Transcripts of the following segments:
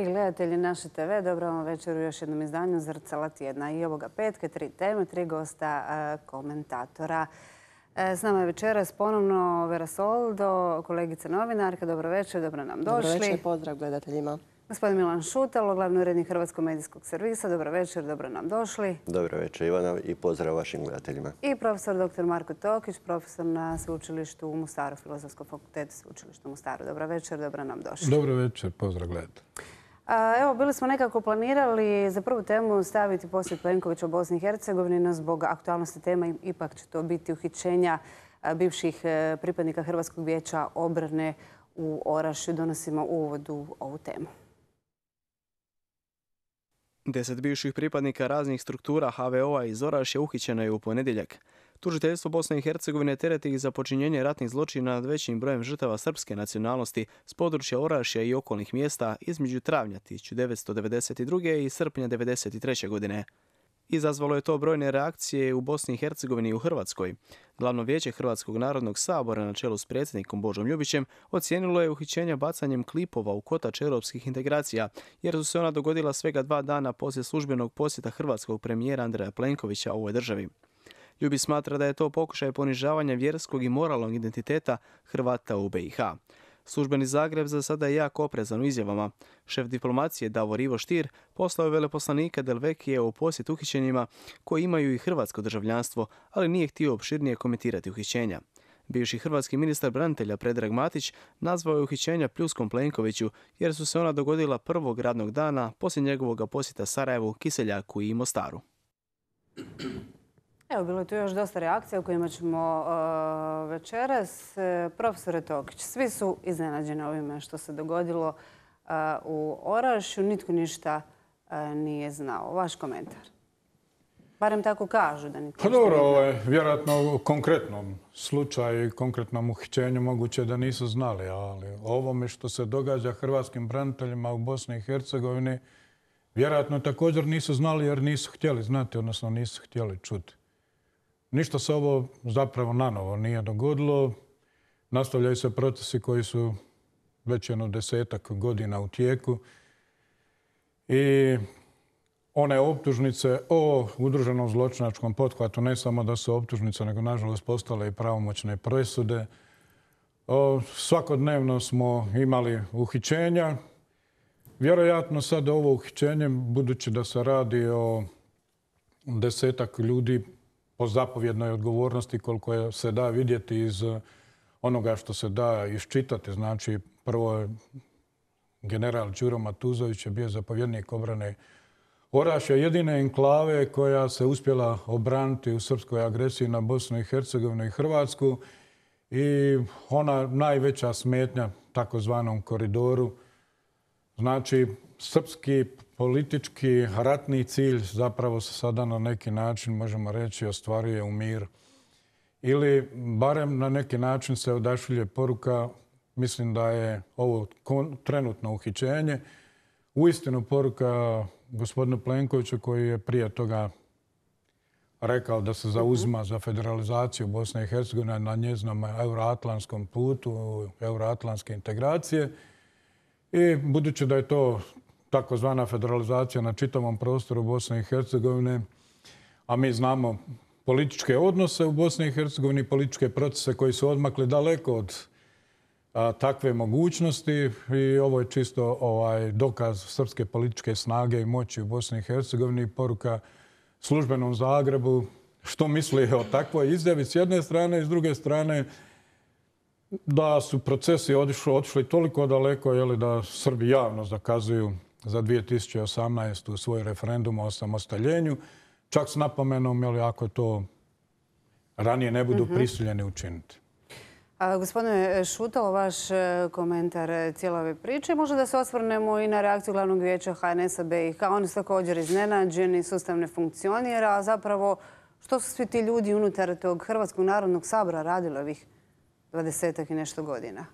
dragi gledatelji naše TV, dobro vam večer u još jednom izdanju Zrcala tjedna. I ovoga petka 3 teme, 3 gosta komentatora. S nama je večeras ponovno Vera Soldo, kolegica novinarka. Dobro večer, dobro nam došli. Dobro večer, pozdrav gledateljima. Gospodin Milan Šutalo, glavni urednik Hrvatskog medijskog servisa. Dobro večer, dobro nam došli. Dobro večer, Ivana, i pozdrav vašim gledateljima. I profesor dr. Marko Tokić, profesor na sveučilištu u Mostaru, Filozofskom fakultetu sveučilišta u Mostaru. Dobro večer, dobro nam došli. Dobro večer, pozdrav gledatelji. Evo, bili smo nekako planirali za prvu temu staviti posjet Plenkovića u Bosni i Hercegovini, no zbog aktualnosti tema ipak će to biti uhićenja bivših pripadnika Hrvatskog vijeća obrane u Orašju. Donosimo uvod u ovu temu. 10 bivših pripadnika raznih struktura HVO-a iz Orašja uhićeno je u ponedjeljak. Tužiteljstvo Bosne i Hercegovine tereti ih za počinjenje ratnih zločina nad većim brojem žrtava srpske nacionalnosti s područja Orašja i okolnih mjesta između travnja 1992. i srpnja 1993. godine. Izazvalo je to brojne reakcije u Bosni i Hercegovini i u Hrvatskoj. Glavno vijeće Hrvatskog narodnog sabora na čelu s predsjednikom Božom Ljubićem ocijenilo je uhićenja bacanjem klipova u kotač europskih integracija, jer su se ona dogodila svega 2 dana poslije službenog posjeta hrvatskog premijera Andreja Plenkovića ovoj državi. Ljubić smatra da je to pokušaj ponižavanja vjerskog i moralnog identiteta Hrvata u BiH. Službeni Zagreb za sada je jako oprezan u izjavama. Šef diplomacije Davor Ivo Stier poslao je veleposlanika Delvekije u posjet uhićenjima koji imaju i hrvatsko državljanstvo, ali nije htio opširnije komentirati uhićenja. Bivši hrvatski ministar branitelja Predrag Matić nazvao je uhićenja pljuskom Plenkoviću jer su se ona dogodila prvog radnog dana poslije njegovog posjeta Sarajevu, Kiseljaku i Mostaru. Evo, bilo je tu još dosta reakcija o kojima ćemo večeras. Profesore Tokić, svi su iznenađeni ovime što se dogodilo u Orašju. Nitko ništa nije znao. Vaš komentar? Barem tako kažu da nitko ništa nije znao. Pa dobro, vjerojatno u konkretnom slučaju i konkretnom uhićenju moguće da nisu znali, ali ovome što se događa hrvatskim braniteljima u Bosni i Hercegovini vjerojatno također nisu znali jer nisu htjeli znati, odnosno nisu htjeli čuti. Ništa se ovo zapravo nanovo nije dogodilo. Nastavljaju se procesi koji su već jedno 10-ak godina u tijeku. I one optužnice o udruženom zločinačkom pothvatu, ne samo da su optužnice, nego nažalost postale i pravomoćne presude. Svakodnevno smo imali uhićenja. Vjerojatno sad ovo uhićenje, budući da se radi o 10-ak ljudi, po zapovjednoj odgovornosti koliko se da vidjeti iz onoga što se da iščitati. Znači, prvo je general Đuro Matuzović je bio zapovjednik obrane Orašja, jedine enklave koja se uspjela obraniti u srpskoj agresiji na Bosnu i Hercegovinu i Hrvatsku i ona najveća smetnja takozvanom koridoru. Znači, srpski politički ratni cilj zapravo se sada na neki način, možemo reći, ostvaruje u mir. Ili barem na neki način se odašilje poruka, mislim da je ovo trenutno uhićenje, uistinu poruka gospodinu Plenkoviću koji je prije toga rekao da se zauzima za federalizaciju Bosne i Hercegovine na njezinom euroatlantskom putu, euroatlantske integracije. I budući da je to takozvana federalizacija na čitavom prostoru Bosne i Hercegovine, a mi znamo političke odnose u Bosni i Hercegovini, političke procese koji su odmakli daleko od takve mogućnosti i ovo je čisto dokaz srpske političke snage i moći u Bosni i Hercegovini i poruka službenom Zagrebu što misli o takvoj izjavi s jedne strane i s druge strane da su procesi otišli toliko daleko da Srbi javno zakazuju za 2018. svoj referendum o osamostaljenju, čak s napomenom ako to ranije ne budu prisiljeni učiniti. Gospodine Šutalo, vaš komentar cijele ove priče. Možda da se osvrnemo i na reakciju glavnog vijeća HNS-a BiH. Oni su također iznenađeni, sustav ne funkcionira, a zapravo što su svi ti ljudi unutar tog Hrvatskog narodnog sabora radili ovih 20-ak i nešto godina?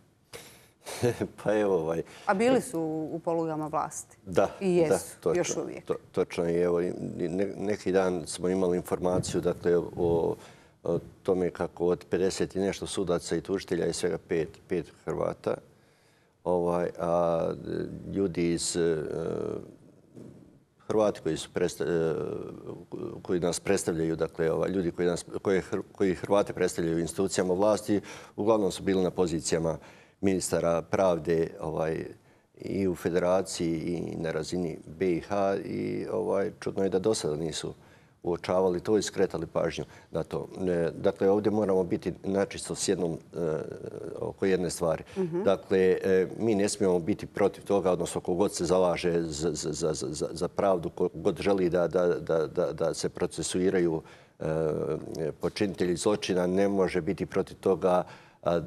Pa evo A bili su u polugama vlasti? Da. I jesu, još uvijek. Točno. I evo, neki dan smo imali informaciju o tome kako od 50 i nešto sudaca i tužitelja je svega 5 Hrvata. a ljudi iz Hrvati koji nas predstavljaju, dakle ljudi koji Hrvate predstavljaju u institucijama vlasti, uglavnom su bili na pozicijama ministara pravde i u Federaciji i na razini BiH i čudno je da do sada nisu uočavali to i skretali pažnju na to. Dakle, ovdje moramo biti načisto s oko jedne stvari. Dakle, mi ne smijemo biti protiv toga, odnosno kogod se zalaže za pravdu, kogod želi da se procesuiraju počinitelji zločina, ne može biti protiv toga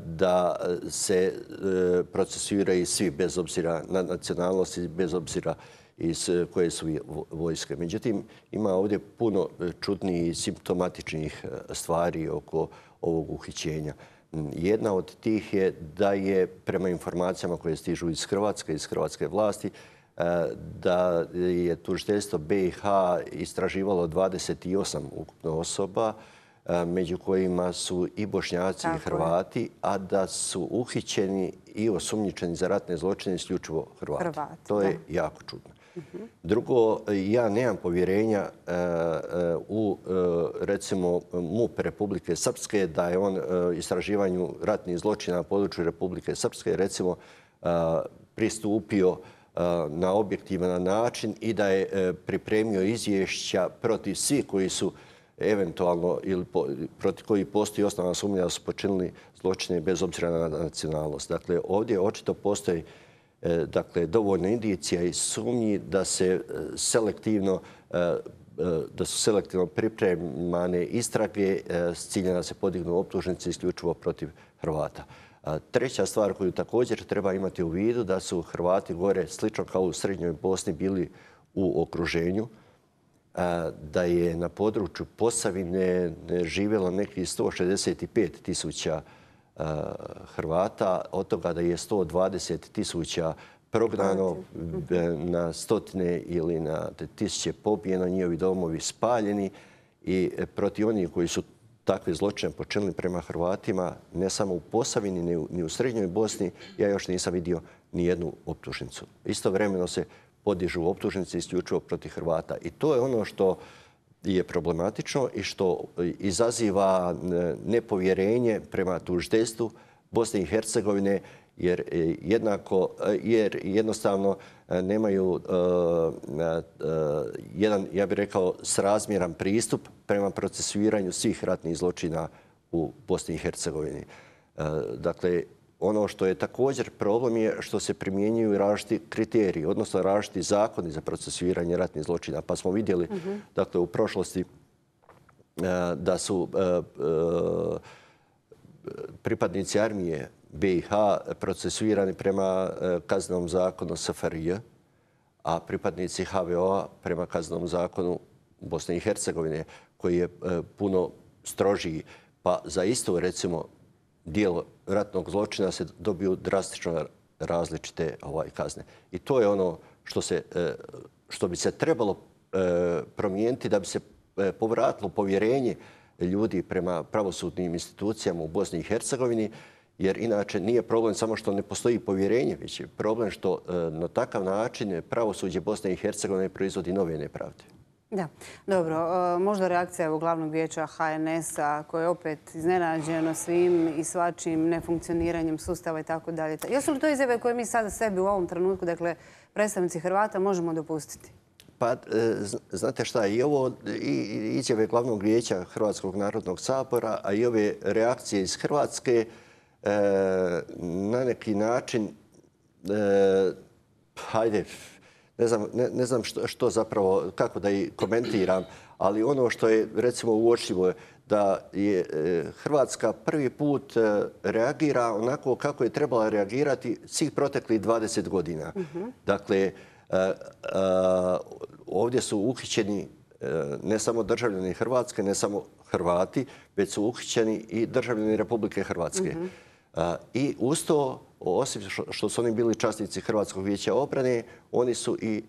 da se procesuiraju svi bez obzira na nacionalnosti, bez obzira iz koje su vojske. Međutim, ima ovdje puno čudnijih i simptomatičnih stvari oko ovog uhićenja. Jedna od tih je da je prema informacijama koje stižu iz hrvatske vlasti, da je tužiteljstvo BiH istraživalo 28 ukupno osoba, među kojima su i Bošnjaci i Hrvati, a da su uhićeni i osumnjičeni za ratne zločine isključivo Hrvati. To je jako čudno. Drugo, ja nemam povjerenja u, recimo, MUP Republike Srpske, da je on istraživanju ratnih zločina na području Republike Srpske, recimo, pristupio na objektivan način i da je pripremio izvješća protiv svih koji su eventualno ili protiv koji postoji osnovna sumnja da su počinili zločine bez obzira na nacionalnost. Dakle, ovdje očito postoji dovoljno indicija i sumnji da su selektivno pripremane istrage s ciljem da se podignu optužnice isključivo protiv Hrvata. Treća stvar koju također treba imati u vidu da su Hrvati gore, slično kao u Srednjoj Bosni, bili u okruženju, da je na području Posavine živjelo nekih 165.000 Hrvata, od toga da je 120.000 prognano, na stotine ili na tisuće pobijeno, njihovi domovi spaljeni i protiv onih koji su takve zločine počinili prema Hrvatima, ne samo u Posavini, ni u Srednjoj Bosni, ja još nisam vidio ni jednu optužnicu. Istovremeno se podižu optužnice isključivo protiv Hrvata. I to je ono što je problematično i što izaziva nepovjerenje prema tužiteljstvu Bosne i Hercegovine, jer jednostavno nemaju jedan, ja bih rekao, srazmjeran pristup prema procesuiranju svih ratnih zločina u Bosni i Hercegovini. Dakle, ono što je također problem je što se primjenjuju različiti kriteriji, odnosno različiti zakoni za procesuiranje ratnih zločina. Pa smo vidjeli dakle, u prošlosti da su pripadnici armije BiH procesuirani prema kaznenom zakonu SFRJ, a pripadnici HVO-a prema kaznenom zakonu Bosne i Hercegovine, koji je puno strožiji. Pa za isto, recimo, dijelo ratnog zločina se dobiju drastično različite kazne. I to je ono što bi se trebalo promijeniti da bi se povratilo povjerenje ljudi prema pravosudnim institucijama u Bosni i Hercegovini, jer inače nije problem samo što ne postoji povjerenje, već je problem što na takav način pravosuđe Bosne i Hercegovine proizvodi nove nepravde. Da, dobro. Možda reakcija glavnog vijeća HNS-a koje je opet iznenađeno svim i svačim nefunkcioniranjem sustava i tako dalje. Jesu li to izjave koje mi sada sebi u ovom trenutku, dakle predstavnici Hrvata, možemo dopustiti? Pa, znate šta, i ovo izjave glavnog vijeća Hrvatskog narodnog sabora, a i ove reakcije iz Hrvatske na neki način, hajde, ne znam što zapravo, kako da i komentiram, ali ono što je recimo uočljivo da je Hrvatska prvi put reagira onako kako je trebala reagirati svih proteklih 20 godina. Dakle, ovdje su uhićeni ne samo državljani Hrvatske, ne samo Hrvati, već su uhićeni i državljani Republike Hrvatske. I uz to, osim što su oni bili časnici Hrvatskog vijeća obrane, oni su i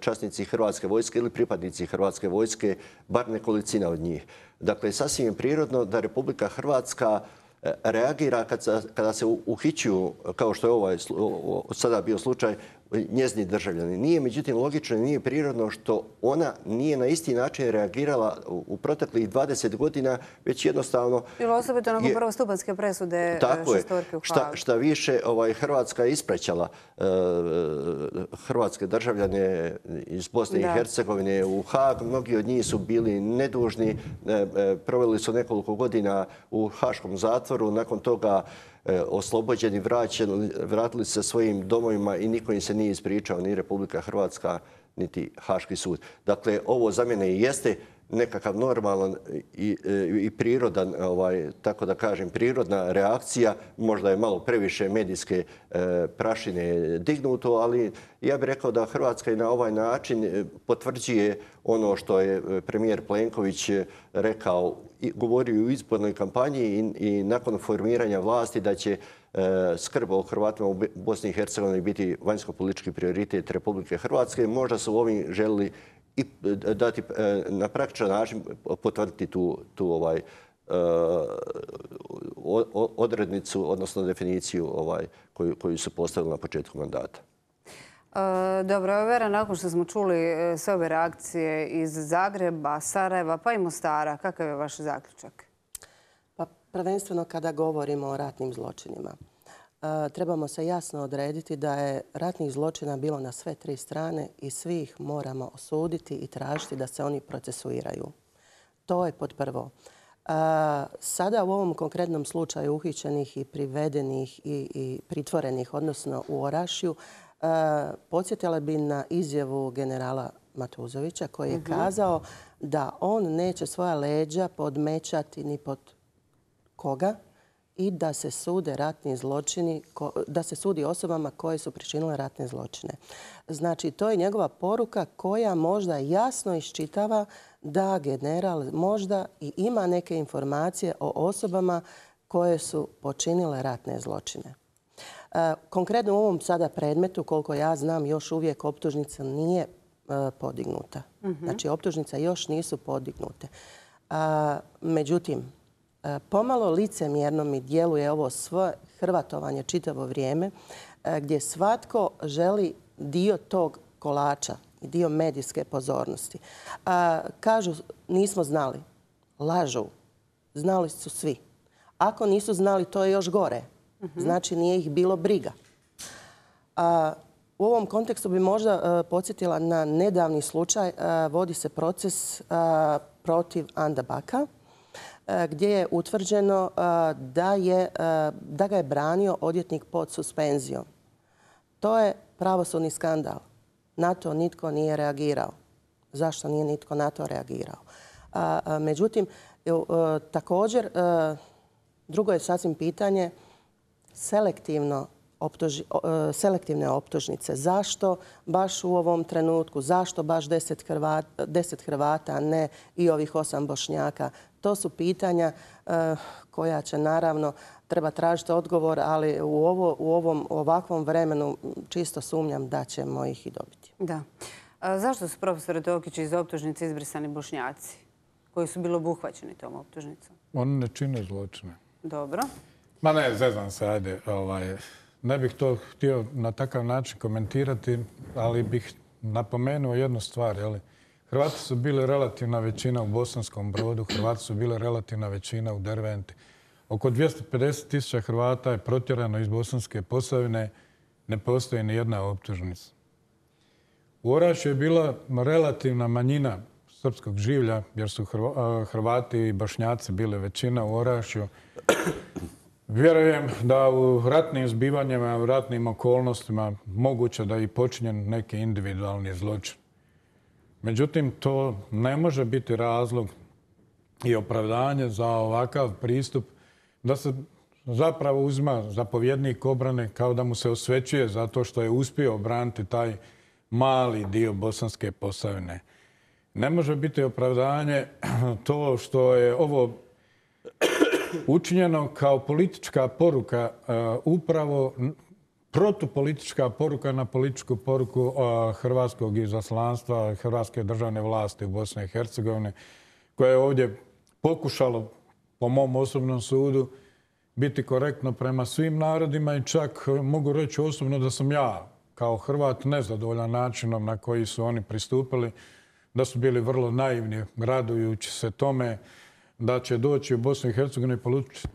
časnici Hrvatske vojske ili pripadnici Hrvatske vojske, bar nekolicina od njih. Dakle, sasvim je prirodno da Republika Hrvatska reagira kada se uhićuju, kao što je sada bio slučaj, njezini državljani. Nije, međutim, logično i nije prirodno što ona nije na isti način reagirala u proteklih 20 godina, već jednostavno... Ili osobito nakon prvostupanjske presude šestorke u Hagu. Šta više, Hrvatska je ispraćala hrvatske državljane iz Bosne i Hercegovine u Hag. Mnogi od njih su bili nedužni, proveli su nekoliko godina u haškom zatvoru, nakon toga oslobođeni, vratili se svojim domovima i niko im se nije ispričao, ni Republika Hrvatska, niti Haški sud. Dakle, ovo za mene i jeste nekakav normalan i prirodan, tako da kažem, prirodna reakcija. Možda je malo previše medijske prašine dignuto, ali ja bih rekao da Hrvatska i na ovaj način potvrđuje ono što je premijer Plenković rekao, govorio u izbornoj kampanji i nakon formiranja vlasti da će skrb o Hrvatima u Bosni i Hercegovini biti vanjsko-politički prioritet Republike Hrvatske. Možda su ovim želili i dati na praktičan način potvrditi tu odrednicu, odnosno definiciju koju su postavili na početku mandata. Dobro, Vera, nakon što smo čuli sve ove reakcije iz Zagreba, Sarajeva pa i Mostara, kakav je vaš zaključak? Pa prvenstveno kada govorimo o ratnim zločinima, trebamo se jasno odrediti da je ratnih zločina bilo na sve tri strane i svi ih moramo osuditi i tražiti da se oni procesuiraju. To je pod prvo. Sada u ovom konkretnom slučaju uhićenih i privedenih i pritvorenih, odnosno u Orašju, podsjetila bi na izjavu generala Matuzovića koji je kazao da on neće svoja leđa podmećati ni pod koga i da se sude ratni zločini, da se sudi osobama koje su pričinile ratne zločine. Znači, to je njegova poruka koja možda jasno iščitava da general možda i ima neke informacije o osobama koje su počinile ratne zločine. Konkretno u ovom sada predmetu, koliko ja znam, još uvijek optužnica nije podignuta. Znači, optužnice još nisu podignute. Međutim, pomalo licemjerno mi djeluje ovo sve hrvatovanje čitavo vrijeme gdje svatko želi dio tog kolača i dio medijske pozornosti. Kažu nismo znali. Lažu. Znali su svi. Ako nisu znali, to je još gore. Znači nije ih bilo briga. U ovom kontekstu bi možda podsjetila na nedavni slučaj. Vodi se proces protiv Anda Baka gdje je utvrđeno da ga je branio odvjetnik pod suspenzijom. To je pravosudni skandal. Na to nitko nije reagirao. Zašto nije nitko na to reagirao? Međutim, također, drugo je sasvim pitanje selektivne optužnice. Zašto baš u ovom trenutku? Zašto baš 10 Hrvata, a ne i ovih 8 Bošnjaka? To su pitanja koja će naravno treba tražiti odgovor, ali u ovakvom vremenu čisto sumnjam da ćemo ih i dobiti. Da. Zašto su profesore Tokić iz optužnice izbrisani Bošnjaci koji su bili obuhvaćeni tom optužnicom? Oni ne čine zločine. Dobro. Ma ne, zezam se, ajde. Ne bih to htio na takav način komentirati, ali bih napomenuo jednu stvar. Hrvati su bili relativna većina u Bosanskom Brodu, Hrvati su bili relativna većina u Derventi. Oko 250.000 Hrvata je protjerano iz Bosanske Posavine, ne postoji ni jedna optužnica. U Orašju je bila relativna manjina srpskog življa, jer su Hrvati i Bošnjaci bili većina u Orašju. Vjerujem da u ratnim zbivanjima, u ratnim okolnostima moguće da je i počinjen neki individualni zločin. Međutim, to ne može biti razlog i opravdanje za ovakav pristup da se zapravo uzma zapovjednik obrane kao da mu se osvećuje zato što je uspio obraniti taj mali dio Bosanske Posavine. Ne može biti opravdanje to što je ovo učinjeno kao politička poruka, upravo protupolitička poruka na političku poruku hrvatskog izaslanstva, hrvatske državne vlasti u Bosni i Hercegovini, koje je ovdje pokušalo, po mom osobnom sudu, biti korektno prema svim narodima i čak mogu reći osobno da sam ja kao Hrvat nezadovoljan načinom na koji su oni pristupili, da su bili vrlo naivni, radujući se tome da će doći u Bosnu i Hercegovinu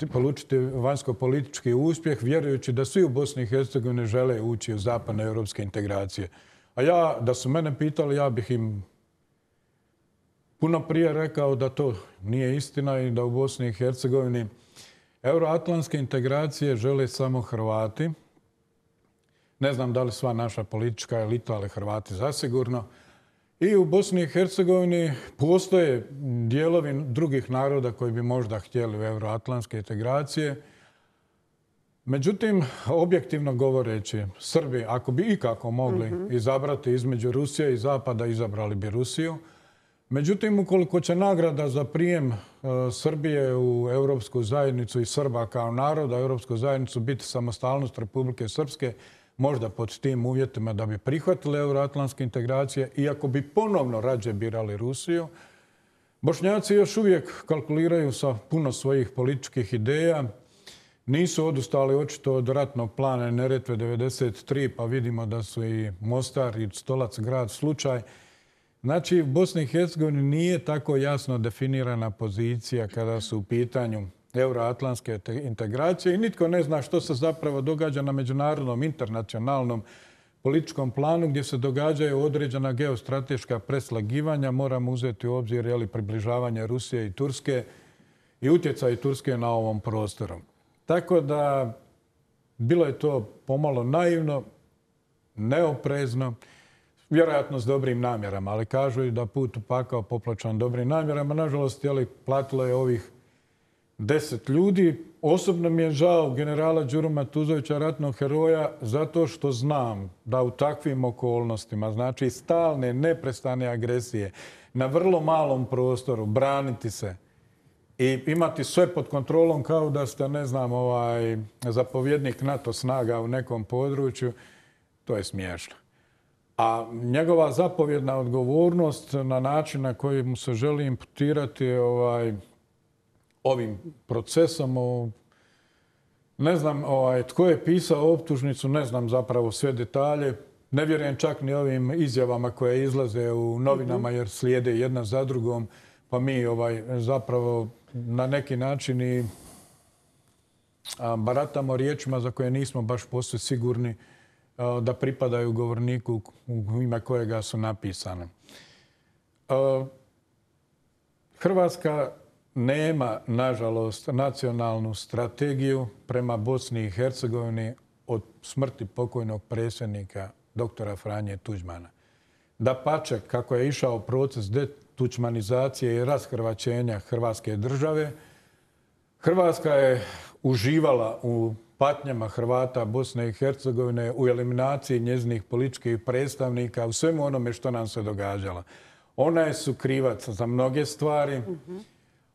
i polučiti vanjsko-politički uspjeh, vjerujući da svi u Bosni i Hercegovini žele ući u zapadne europske integracije. A ja, da su mene pitali, ja bih im puno prije rekao da to nije istina i da u Bosni i Hercegovini euroatlantske integracije žele samo Hrvati. Ne znam da li sva naša politička elita, ali Hrvati zasigurno. I u Bosni i Hercegovini postoje dijelovi drugih naroda koji bi možda htjeli u euroatlantske integracije. Međutim, objektivno govoreći, Srbi, ako bi ikako mogli izabrati između Rusije i Zapada, izabrali bi Rusiju. Međutim, ukoliko će nagrada za prijem Srbije u Europsku zajednicu i Srba kao naroda, Europsku zajednicu biti samostalnost Republike Srpske, možda pod tim uvjetima da bi prihvatili euroatlantske integracije, iako bi ponovno rađe birali Rusiju. Bošnjaci još uvijek kalkuliraju sa puno svojih političkih ideja. Nisu odustali očito od ratnog plana Neretve 93, pa vidimo da su i Mostar i Stolac grad slučaj. Znači, u Bosni i Hercegovini nije tako jasno definirana pozicija kada su u pitanju euroatlantske integracije i nitko ne zna što se zapravo događa na međunarodnom, internacionalnom političkom planu gdje se događaju određena geostrateška preslagivanja. Moramo uzeti u obzir približavanje Rusije i Turske i utjecaj Turske na ovom prostoru. Tako da bilo je to pomalo naivno, neoprezno, vjerojatno s dobrim namjerama, ali kažu i da put u pakao popločan dobrim namjerama. Nažalost, platilo je ovih 10 ljudi. Osobno mi je žao generala Đuru Matuzovića, ratnog heroja, zato što znam da u takvim okolnostima, znači stalne, neprestane agresije, na vrlo malom prostoru, braniti se i imati sve pod kontrolom kao da ste, ne znam, zapovjednik NATO snaga u nekom području, to je smiješno. A njegova zapovjedna odgovornost na način na koji mu se želi imputirati ovim procesom, ne znam tko je pisao optužnicu, ne znam zapravo sve detalje. Ne vjerujem čak ni ovim izjavama koje izlaze u novinama jer slijede jedna za drugom, pa mi zapravo na neki način i baratamo riječima za koje nismo baš posve sigurni da pripadaju govorniku u ime kojega su napisane. Hrvatska nema, nažalost, nacionalnu strategiju prema Bosni i Hercegovini od smrti pokojnog predsjednika doktora Franje Tuđmana. Dapače, kako je išao proces detuđmanizacije i rashrvaćenja Hrvatske države, Hrvatska je uživala u patnjama Hrvata Bosne i Hercegovine, u eliminaciji njezinih političkih predstavnika, u svemu onome što nam se događalo. Ona je sukrivac za mnoge stvari.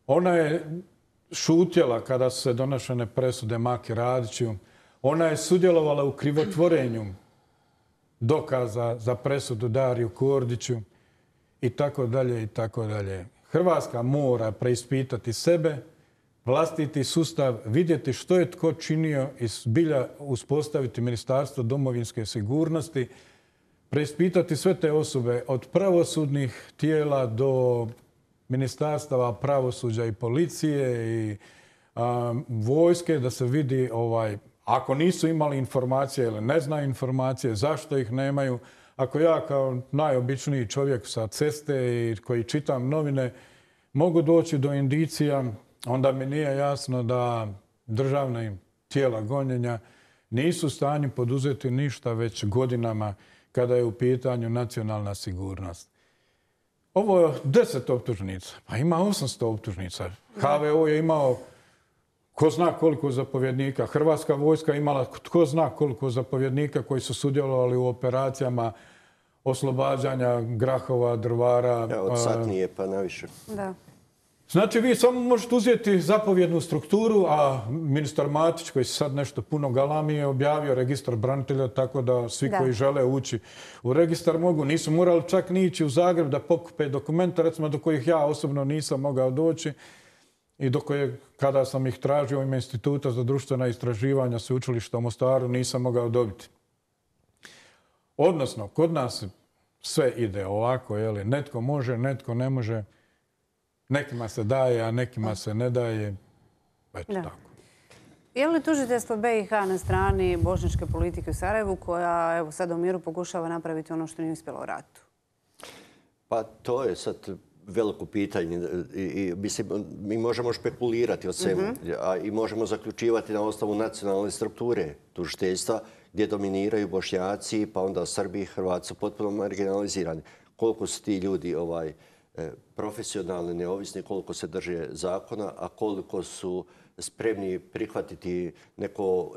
Ona je šutjela kada su se donošene presude Maki Radiću. Ona je sudjelovala u krivotvorenju dokaza za presudu Dariju Kordiću i tako dalje i tako dalje. Hrvatska mora preispitati sebe, vlastiti sustav, vidjeti što je tko činio i zbilja uspostaviti Ministarstvo domovinske sigurnosti, preispitati sve te osobe od pravosudnih tijela do ministarstava pravosuđa i policije i vojske, da se vidi ako nisu imali informacije ili ne znaju informacije, zašto ih nemaju. Ako ja kao najobičniji čovjek sa ceste i koji čitam novine mogu doći do indicija, onda mi nije jasno da državna tijela gonjenja nisu u stanju poduzeti ništa već godinama kada je u pitanju nacionalna sigurnost. Ovo je 10 optužnica, pa ima 800 optužnica. HVO je imao ko zna koliko zapovjednika. Hrvatska vojska imala ko zna koliko zapovjednika koji su sudjelovali u operacijama oslobađanja Grahova, Drvara. Od satnije pa naviše. Da. Znači, vi samo možete uzeti zapovjednu strukturu, a ministar Matić, koji se sad nešto puno galami, je objavio registar branitelja, tako da svi koji žele ući u registar mogu. Nisu morali čak ni ići u Zagreb da pokupe dokumenta, recimo do kojih ja osobno nisam mogao doći. i do koje, kada sam ih tražio u ime Instituta za društvena istraživanja Sveučilišta u Mostaru, nisam mogao dobiti. Odnosno, kod nas sve ide ovako, netko može, netko ne može. Nekima se daje, a nekima se ne daje. Eto tako. Je li tužiteljstvo BiH na strani bošnjačke politike u Sarajevu koja evo sad u miru pokušava napraviti ono što nije uspjelo u ratu? Pa to je sad veliko pitanje. Mi možemo špekulirati o svemu i možemo zaključivati na osnovu nacionalne strukture tužiteljstva gdje dominiraju Bošnjaci, pa onda Srbi i Hrvati su potpuno marginalizirani. Koliko su ti ljudi profesionalni, neovisni, koliko se drže zakona, a koliko su spremni prihvatiti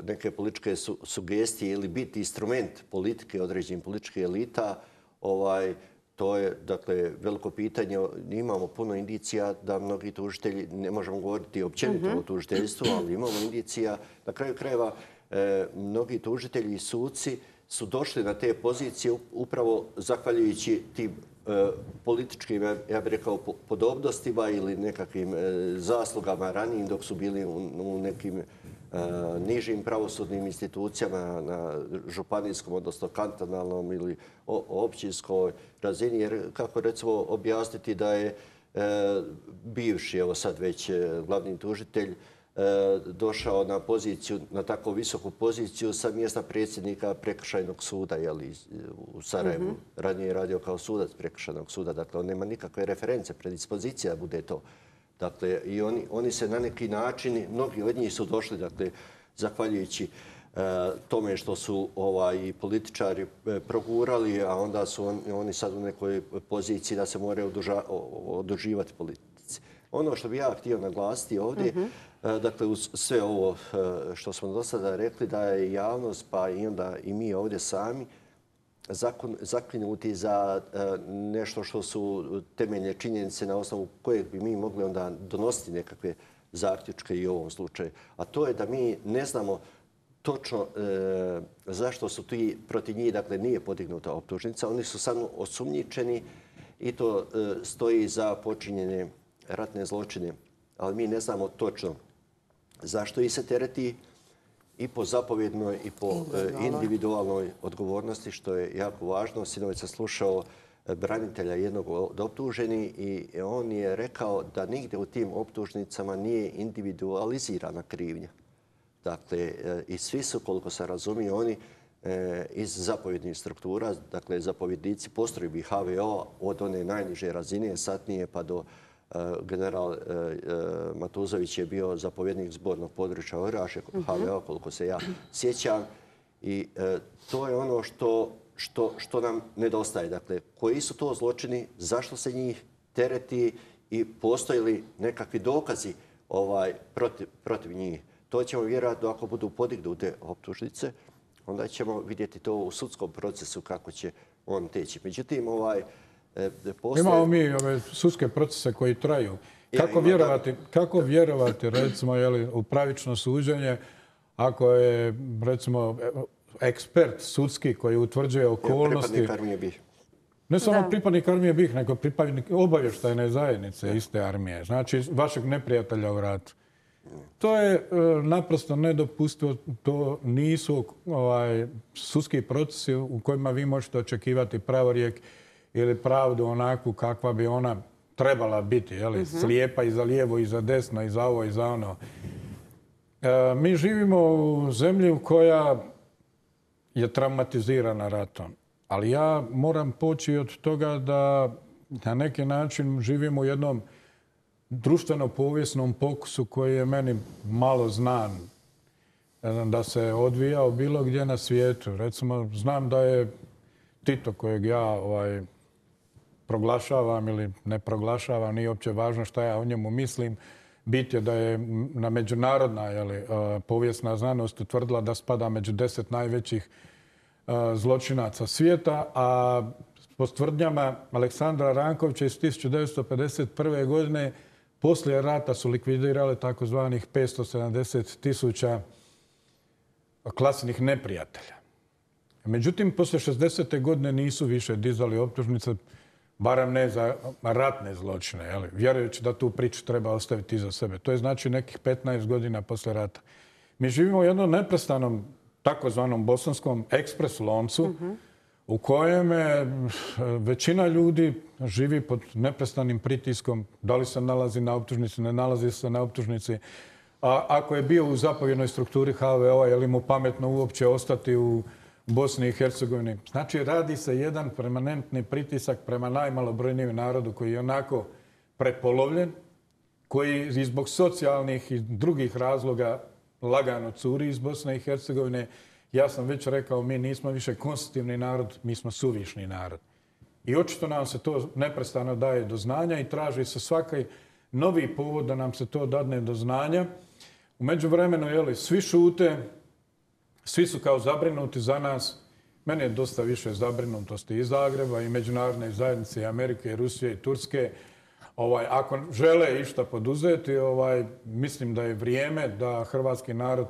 neke političke sugestije ili biti instrument politike određenih političkih elita, to je, dakle, veliko pitanje. Imamo puno indicija da mnogi tužitelji, ne možemo govoriti općenito o tužiteljstvu, ali imamo indicija, na kraju krajeva, mnogi tužitelji i suci su došli na te pozicije upravo zahvaljujući tim političkim, ja bih rekao, podobnostima ili nekakvim zaslugama ranijim dok su bili u nekim nižim pravosudnim institucijama na županijskom, odnosno kantonalnom ili općinskoj razini. Jer kako recimo objasniti da je bivši, evo sad već glavni tužitelj, došao na poziciju, na tako visoku poziciju sa mjesta predsjednika prekršajnog suda u Sarajevu. Ranije je radio kao sudac prekršajnog suda. Dakle, on nema nikakve reference, predispozicija da bude to. Dakle, i oni se na neki način, mnogi od njih su došli, dakle, zahvaljujući tome što su i političari progurali, a onda su oni sad u nekoj poziciji da se moraju oduživati politici. Ono što bih ja htio naglasiti ovdje, dakle, uz sve ovo što smo do sada rekli, da je javnost, pa i onda i mi ovdje sami, zakinuti za nešto što su temeljne činjenice na osnovu kojeg bi mi mogli onda donositi nekakve zaključke i u ovom slučaju. A to je da mi ne znamo točno zašto su ti protiv njih, dakle, nije podignuta optužnica. Oni su samo osumnjičeni i to stoji za počinjenje ratne zločine. Ali mi ne znamo točno zašto ih se tereti i po zapovjednoj i po individualnoj odgovornosti, što je jako važno. Sinoć sam slušao branitelja jednog od optuženih i on je rekao da nigdje u tim optužnicama nije individualizirana krivnja. Dakle, i svi su, koliko sam razumio, oni iz zapovjednih struktura, dakle, zapovjednici postrojbi HVO od one najniže razine, satnije pa do general Matuzović je bio zapovjednik zbornog područja Orašje, HVO, koliko se ja sjećam. I to je ono što nam nedostaje. Dakle, koji su to zločini, zašto se njih tereti i postoje li nekakvi dokazi protiv njih. To ćemo vjerojatno, ako budu podignute optužnice, onda ćemo vidjeti to u sudskom procesu kako će on teći. Međutim, imamo mi ove sudske procese koji traju. Kako vjerovati, recimo, u pravično suđenje ako je, recimo, ekspert sudski koji utvrđuje okolnosti... Pripadnik armije BiH. Ne samo pripadnik armije BiH, nego pripadnik obavještajne zajednice iste armije. Znači, vašeg neprijatelja u ratu. To je naprosto nedopustivo. To nisu sudski procesi u kojima vi možete očekivati pravorijek ili pravdu onakvu kakva bi ona trebala biti. Slijepa i za lijevo i za desno i za ovo i za ono. Mi živimo u zemlji koja je traumatizirana ratom. Ali ja moram poći od toga da na neki način živimo u jednom društveno-povijesnom pokusu koji je meni malo znan da se odvijao bilo gdje na svijetu. Recimo, znam da je Tito, kojeg ja proglašavam ili ne proglašavam, nije uopće važno šta ja o njemu mislim. Bit je da je na međunarodna povijesna znanost utvrdila da spada među 10 najvećih zločinaca svijeta, a po tvrdnjama Aleksandra Rankovića iz 1951. godine poslije rata su likvidirali takozvanih 570.000 klasnih neprijatelja. Međutim, poslije 60. godine nisu više dizali optužnice. barem ne za ratne zločine, jel? Vjerujući da tu priču treba ostaviti iza sebe. To je znači nekih 15 godina poslije rata. Mi živimo u jednom neprestanom takozvanom bosanskom ekspres loncu u kojem većina ljudi živi pod neprestanim pritiskom. Da li se nalazi na optužnici, ne nalazi se na optužnici. A ako je bio u zapovjednoj strukturi HVO-a, je li mu pametno uopće ostati u Bosni i Hercegovini? Znači, radi se jedan permanentni pritisak prema najmalobrojnijem narodu koji je onako prepolovljen, koji i zbog socijalnih i drugih razloga lagano curi iz Bosne i Hercegovine. Ja sam već rekao, mi nismo više konstitutivni narod, mi smo suvišni narod. I očito nam se to neprestano daje do znanja i traži se svaki novi povod da nam se to dadne do znanja. U međuvremenu, svi šute, svi su kao zabrinuti za nas. Meni je dosta više zabrinutosti iz Zagreba i međunarodne zajednice i Amerike i Rusije i Turske. Ako žele išta poduzeti, mislim da je vrijeme da hrvatski narod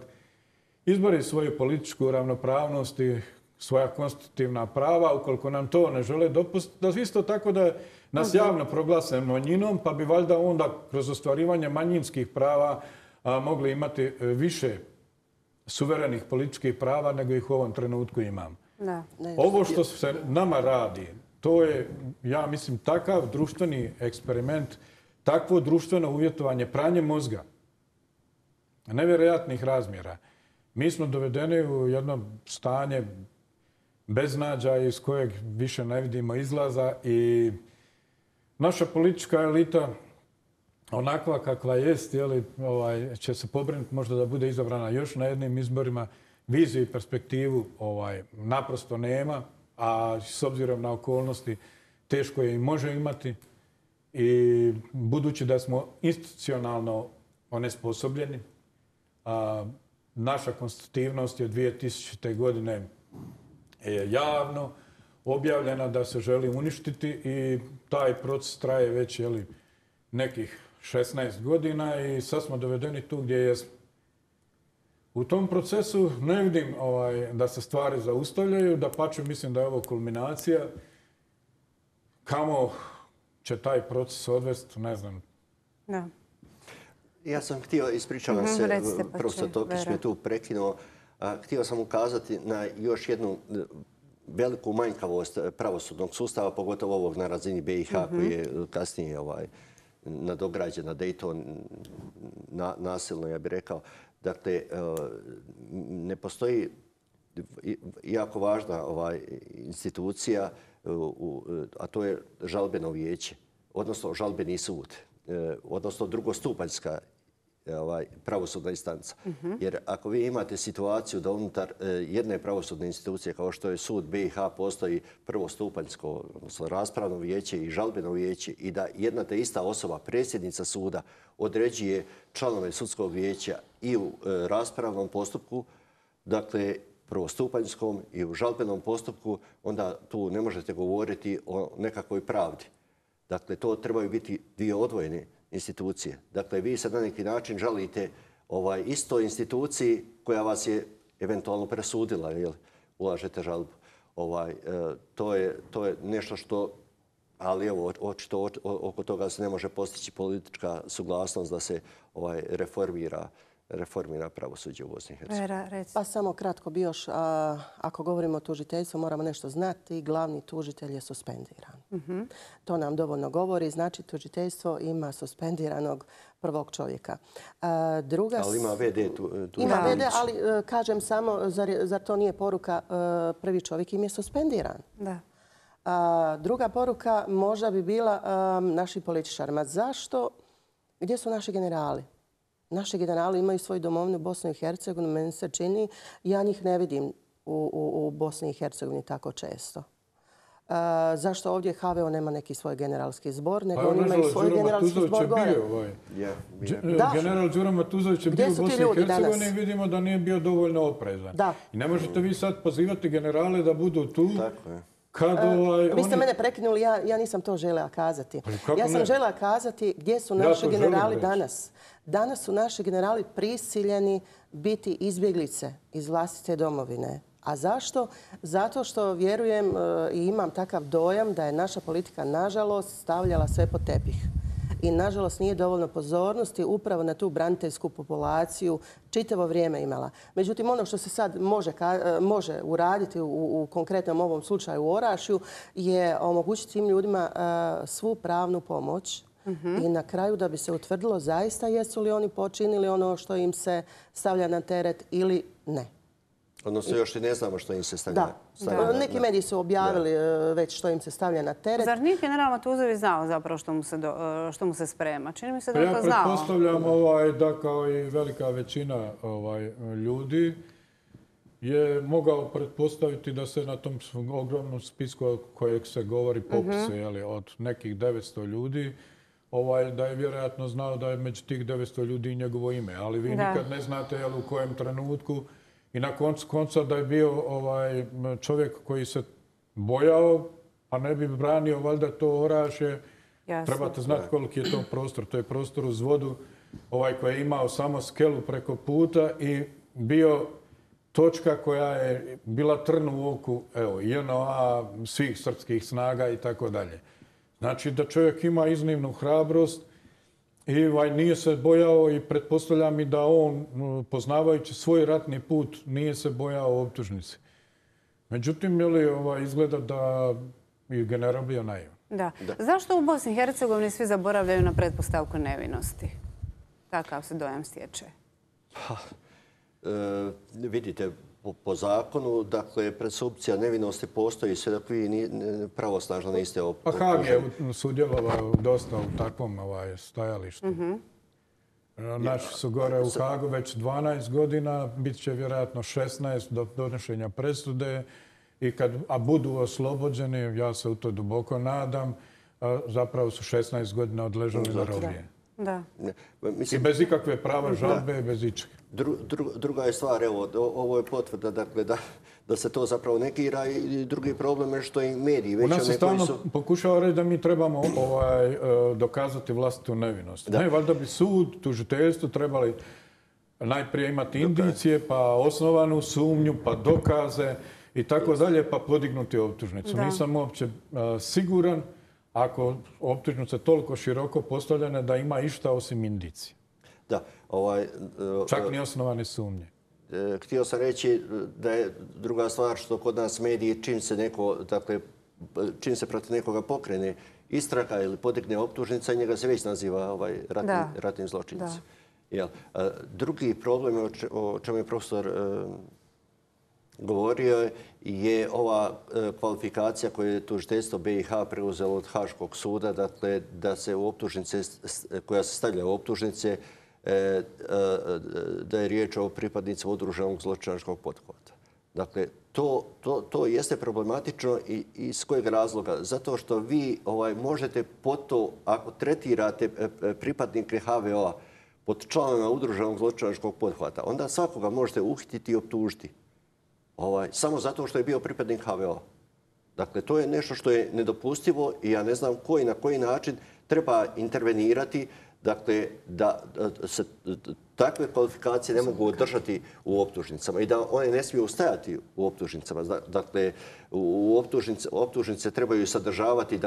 izbori svoju političku ravnopravnost i svoja konstitutivna prava. Ukoliko nam to ne žele dopustiti, da isto tako da nas javno proglase manjinom, pa bi valjda onda kroz ostvarivanje manjinskih prava mogli imati više suverenih političkih prava nego ih u ovom trenutku imamo. Ovo što se nama radi, to je, ja mislim, takav društveni eksperiment, takvo društveno uvjetovanje, pranje mozga, nevjerojatnih razmjera. Mi smo dovedeni u jedno stanje beznađa iz kojeg više ne vidimo izlaza i naša politička elita, onakva kakva jest, će se pobrinuti možda da bude izabrana još na jednim izborima. Viziju i perspektivu naprosto nema, a s obzirom na okolnosti teško je i može imati. I budući da smo institucionalno onesposobljeni, naša konstitutivnost je 2000. godine je javno objavljena da se želi uništiti i taj proces traje već nekih 16 godina i sad smo dovedeni tu gdje jesmo. U tom procesu ne vidim da se stvari zaustavljaju, dapače mislim da je ovo kulminacija. Kamo će taj proces odvesti, ne znam. Da. Ja sam htio, ispričavam se, profesor Tokić me tu prekinuo, htio sam ukazati na još jednu veliku manjkavost pravosudnog sustava, pogotovo ovog na razini BiH koji je kasnije nadograđen na Dayton, nasilno, ja bih rekao. Dakle, ne postoji jako važna institucija, a to je žalbeno vijeće, odnosno žalbeni sud, odnosno drugostupanjska pravosudna instanca. Jer ako vi imate situaciju da unutar jedne pravosudne institucije kao što je sud BiH postoji prvostupanjsko, odnosno raspravno vijeće i žalbeno vijeće i da jedna te ista osoba, predsjednica suda, određuje članove sudskog vijeća i u raspravnom postupku, dakle prvostupanjskom i u žalbenom postupku, onda tu ne možete govoriti o nekakvoj pravdi. Dakle, to trebaju biti dvije odvojene institucije. Dakle, vi se na neki način žalite istoj instituciji koja vas je eventualno presudila, jer ulažete žalbu. To je nešto što, ali evo, očito oko toga se ne može postići politička suglasnost da se reformira pravosuđe u Bosni i Hercegovini. Pa samo kratko bi još, ako govorimo o tužiteljstvu, moramo nešto znati. Glavni tužitelj je suspendiran. To nam dovoljno govori. Znači, tužiteljstvo ima suspendiranog prvog čovjeka. Ali ima VD Ima VD, ali kažem samo, zar to nije poruka, prvi čovjek im je suspendiran. Da. Druga poruka možda bi bila našim političarima. Zašto? Gdje su naši generali? Naši generali imaju svoju domovinu Bosnu i Hercegovinu, meni se čini. Ja njih ne vidim u Bosni i Hercegovini tako često. Zašto ovdje HVO nema neki svoj generalski zbor, nego oni imaju svoj generalski zbor gore? General Đuro Matuzović je bio u Bosni i Hercegovini i vidimo da nije bio dovoljno oprezan. I ne možete vi sad pozivati generale da budu tu. Vi ste mene prekinuli, ja nisam to željela kazati. Ja sam željela kazati gdje su naši generali danas. Danas su naši generali prisiljeni biti izbjeglice iz vlastite domovine. A zašto? Zato što vjerujem i imam takav dojam da je naša politika, nažalost, stavljala sve pod tepih. I, nažalost, nije dovoljno pozornosti upravo na tu braniteljsku populaciju čitavo vrijeme imala. Međutim, ono što se sad može uraditi u konkretnom ovom slučaju u Orašju je omogućiti tim ljudima svu pravnu pomoć i na kraju da bi se utvrdilo zaista jesu li oni počinili ono što im se stavlja na teret ili ne. Odnosno, još i ne znamo što im se stavlja. Neki mediji su objavili već što im se stavlja na teret. Zar nije general Matuzović znao zapravo što mu se sprema? Čini mi se da je to znao. Ja pretpostavljam da kao i velika većina ljudi je mogao pretpostaviti da se na tom ogromnom spisku kojeg se govori popise od nekih 900 ljudi, da je vjerojatno znao da je među tih 900 ljudi i njegovo ime. Ali vi nikad ne znate u kojem trenutku. I na koncu konca da je bio čovjek koji se bojao, pa ne bi branio valjda to Orašje. Trebate znati koliki je to prostor. To je prostor uz vodu koji je imao samo skelu preko puta i bio točka koja je bila trn u oku JNA, svih srpskih snaga i tako dalje. Znači da čovjek ima iznimnu hrabrost i nije se bojao i pretpostavljam i da on, poznavajući svoj ratni put, nije se bojao optužnici. Međutim, izgleda da je general bio naivan. Da. Zašto u Bosni i Hercegovini svi zaboravljaju na pretpostavku nevinosti? Takav se dojam stječe. Vidite, po zakonu, dakle, presumpcija nevinosti postoji sve dok vi pravosnažno niste optuženi. Pa Haag je sudjelovao dosta u takvom stajalištu. Naši su gore u Haagu već 12 godina, bit će vjerojatno 16 do donošenja presude i a budu oslobođeni, ja se u to duboko nadam, zapravo su 16 godina odležali na robije. I bez ikakve prava žalbe, bez ičega. Druga je stvar, ovo je potvrda dakle, da se to zapravo negira i drugi problem je što i mediji već... U nas se stalno pokušava reći da mi trebamo dokazati vlastitu nevinost. Ne, valjda bi sud, tužiteljstvo trebali najprije imati indicije, pa osnovanu sumnju, pa dokaze i tako dalje, pa podignuti optužnicu. Nisam uopće siguran ako optužnice toliko široko postavljene da ima išta osim indicije. Čak ni osnovane sumnje. Htio sam reći da je druga stvar što kod nas mediji čim se protiv nekoga pokrene istraga ili podigne optužnica, njega se već naziva ratnim zločincem. Drugi problem o čemu je profesor govorio je ova kvalifikacija koju je tužiteljstvo BiH preuzelo od Haškog suda, dakle da se u optužnice, koja se stavlja u optužnice, da je riječ o pripadnicima udruženog zločinačkog pothvata. Dakle, to jeste problematično i iz kojeg razloga? Zato što vi možete po to, ako tretirate pripadnike HVO-a pod članovima udruženog zločinačkog pothvata, onda svakoga možete uhititi i optužiti. Samo zato što je bio pripadnik HVO-a. Dakle, to je nešto što je nedopustivo i ja ne znam na koji način treba intervenirati. Dakle, da se takve kvalifikacije ne mogu održati u optužnicama i da one ne smiju stajati u optužnicama. Dakle, optužnice trebaju sadržavati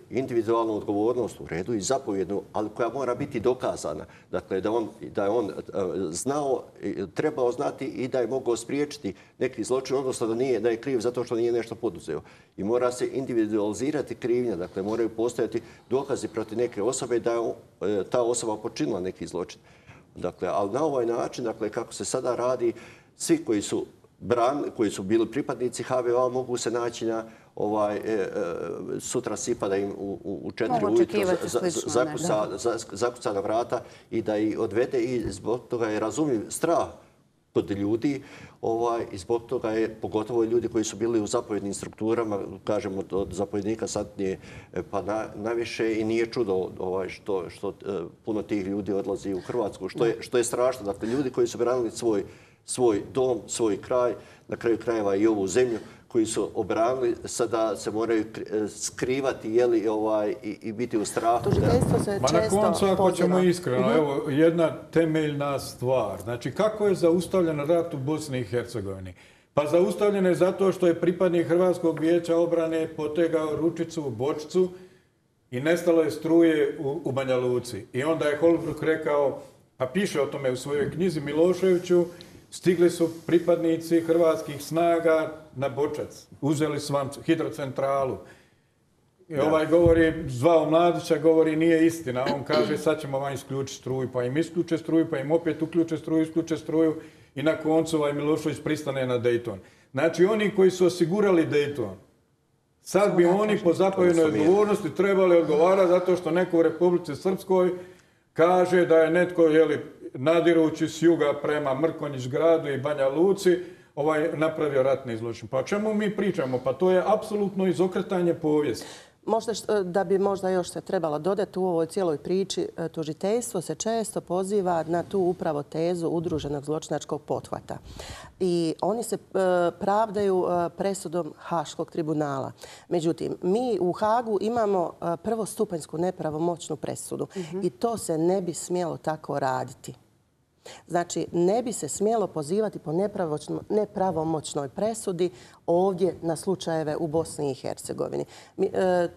individualnu odgovornost u redu i zapovjednu, ali koja mora biti dokazana. Dakle, da je on znao, trebao znati i da je mogao spriječiti neki zločin, odnosno da je kriv zato što nije nešto poduzeo. I mora se individualizirati krivnja. Dakle, moraju postojati dokazi protiv neke osobe da je ta osoba počinila neki zločin. Dakle, ali na ovaj način, dakle, kako se sada radi, svi koji su bili pripadnici HVO-a mogu se naći na sutra sipa da im u 4 ujutro zakuca na vrata i da ih odvede i zbog toga je razumljiv strah kod ljudi i zbog toga je pogotovo ljudi koji su bili u zapovjednim strukturama, kažemo od zapovjednika satnije pa najviše i nije čudo što puno tih ljudi odlazi u Hrvatsku, što je strašno. Dakle, ljudi koji su branili svoj dom, svoj kraj, na kraju krajeva i ovu zemlju, koji su obranili, sada se moraju skrivati i biti u strahu. Tužiteljstvo se često na koncu, ako ćemo iskreno, evo jedna temeljna stvar. Znači, kako je zaustavljen rat u Bosni i Hercegovini? Pa zaustavljen je zato što je pripadnik Hrvatskog vijeća obrane potegao ručicu u bočicu i nestalo je struje u Banja Luci. I onda je Holbrooke rekao, pa piše o tome u svojoj knjizi Miloševiću, stigli su pripadnici hrvatskih snaga na Bočac. Uzeli su vam hidrocentralu. I ovaj govori, zvao Mladića, govori nije istina. On kaže sad ćemo vam isključiti struju. Pa im isključe struju, pa im opet uključe struju, isključe struju. I na koncu ovaj Milošević pristane na Dayton. Znači oni koji su osigurali Dayton, sad bi oni po zapovjednoj odgovornosti trebali odgovarati zato što neko u Republici Srpskoj kaže da je netko nadirući s juga prema Mrkonjić gradu i Banja Luci napravio ratni zločin. Pa o čemu mi pričamo? Pa to je apsolutno izokretanje povijesti. Možda da bi možda još se trebalo dodati u ovoj cijeloj priči, tužiteljstvo se često poziva na tu upravo tezu udruženog zločinačkog pothvata. I oni se pravdaju presudom Haškog tribunala. Međutim, mi u Hagu imamo prvostupanjsku nepravomoćnu presudu i to se ne bi smjelo tako raditi. Znači, ne bi se smjelo pozivati po nepravomoćnoj presudi ovdje na slučajeve u Bosni i Hercegovini.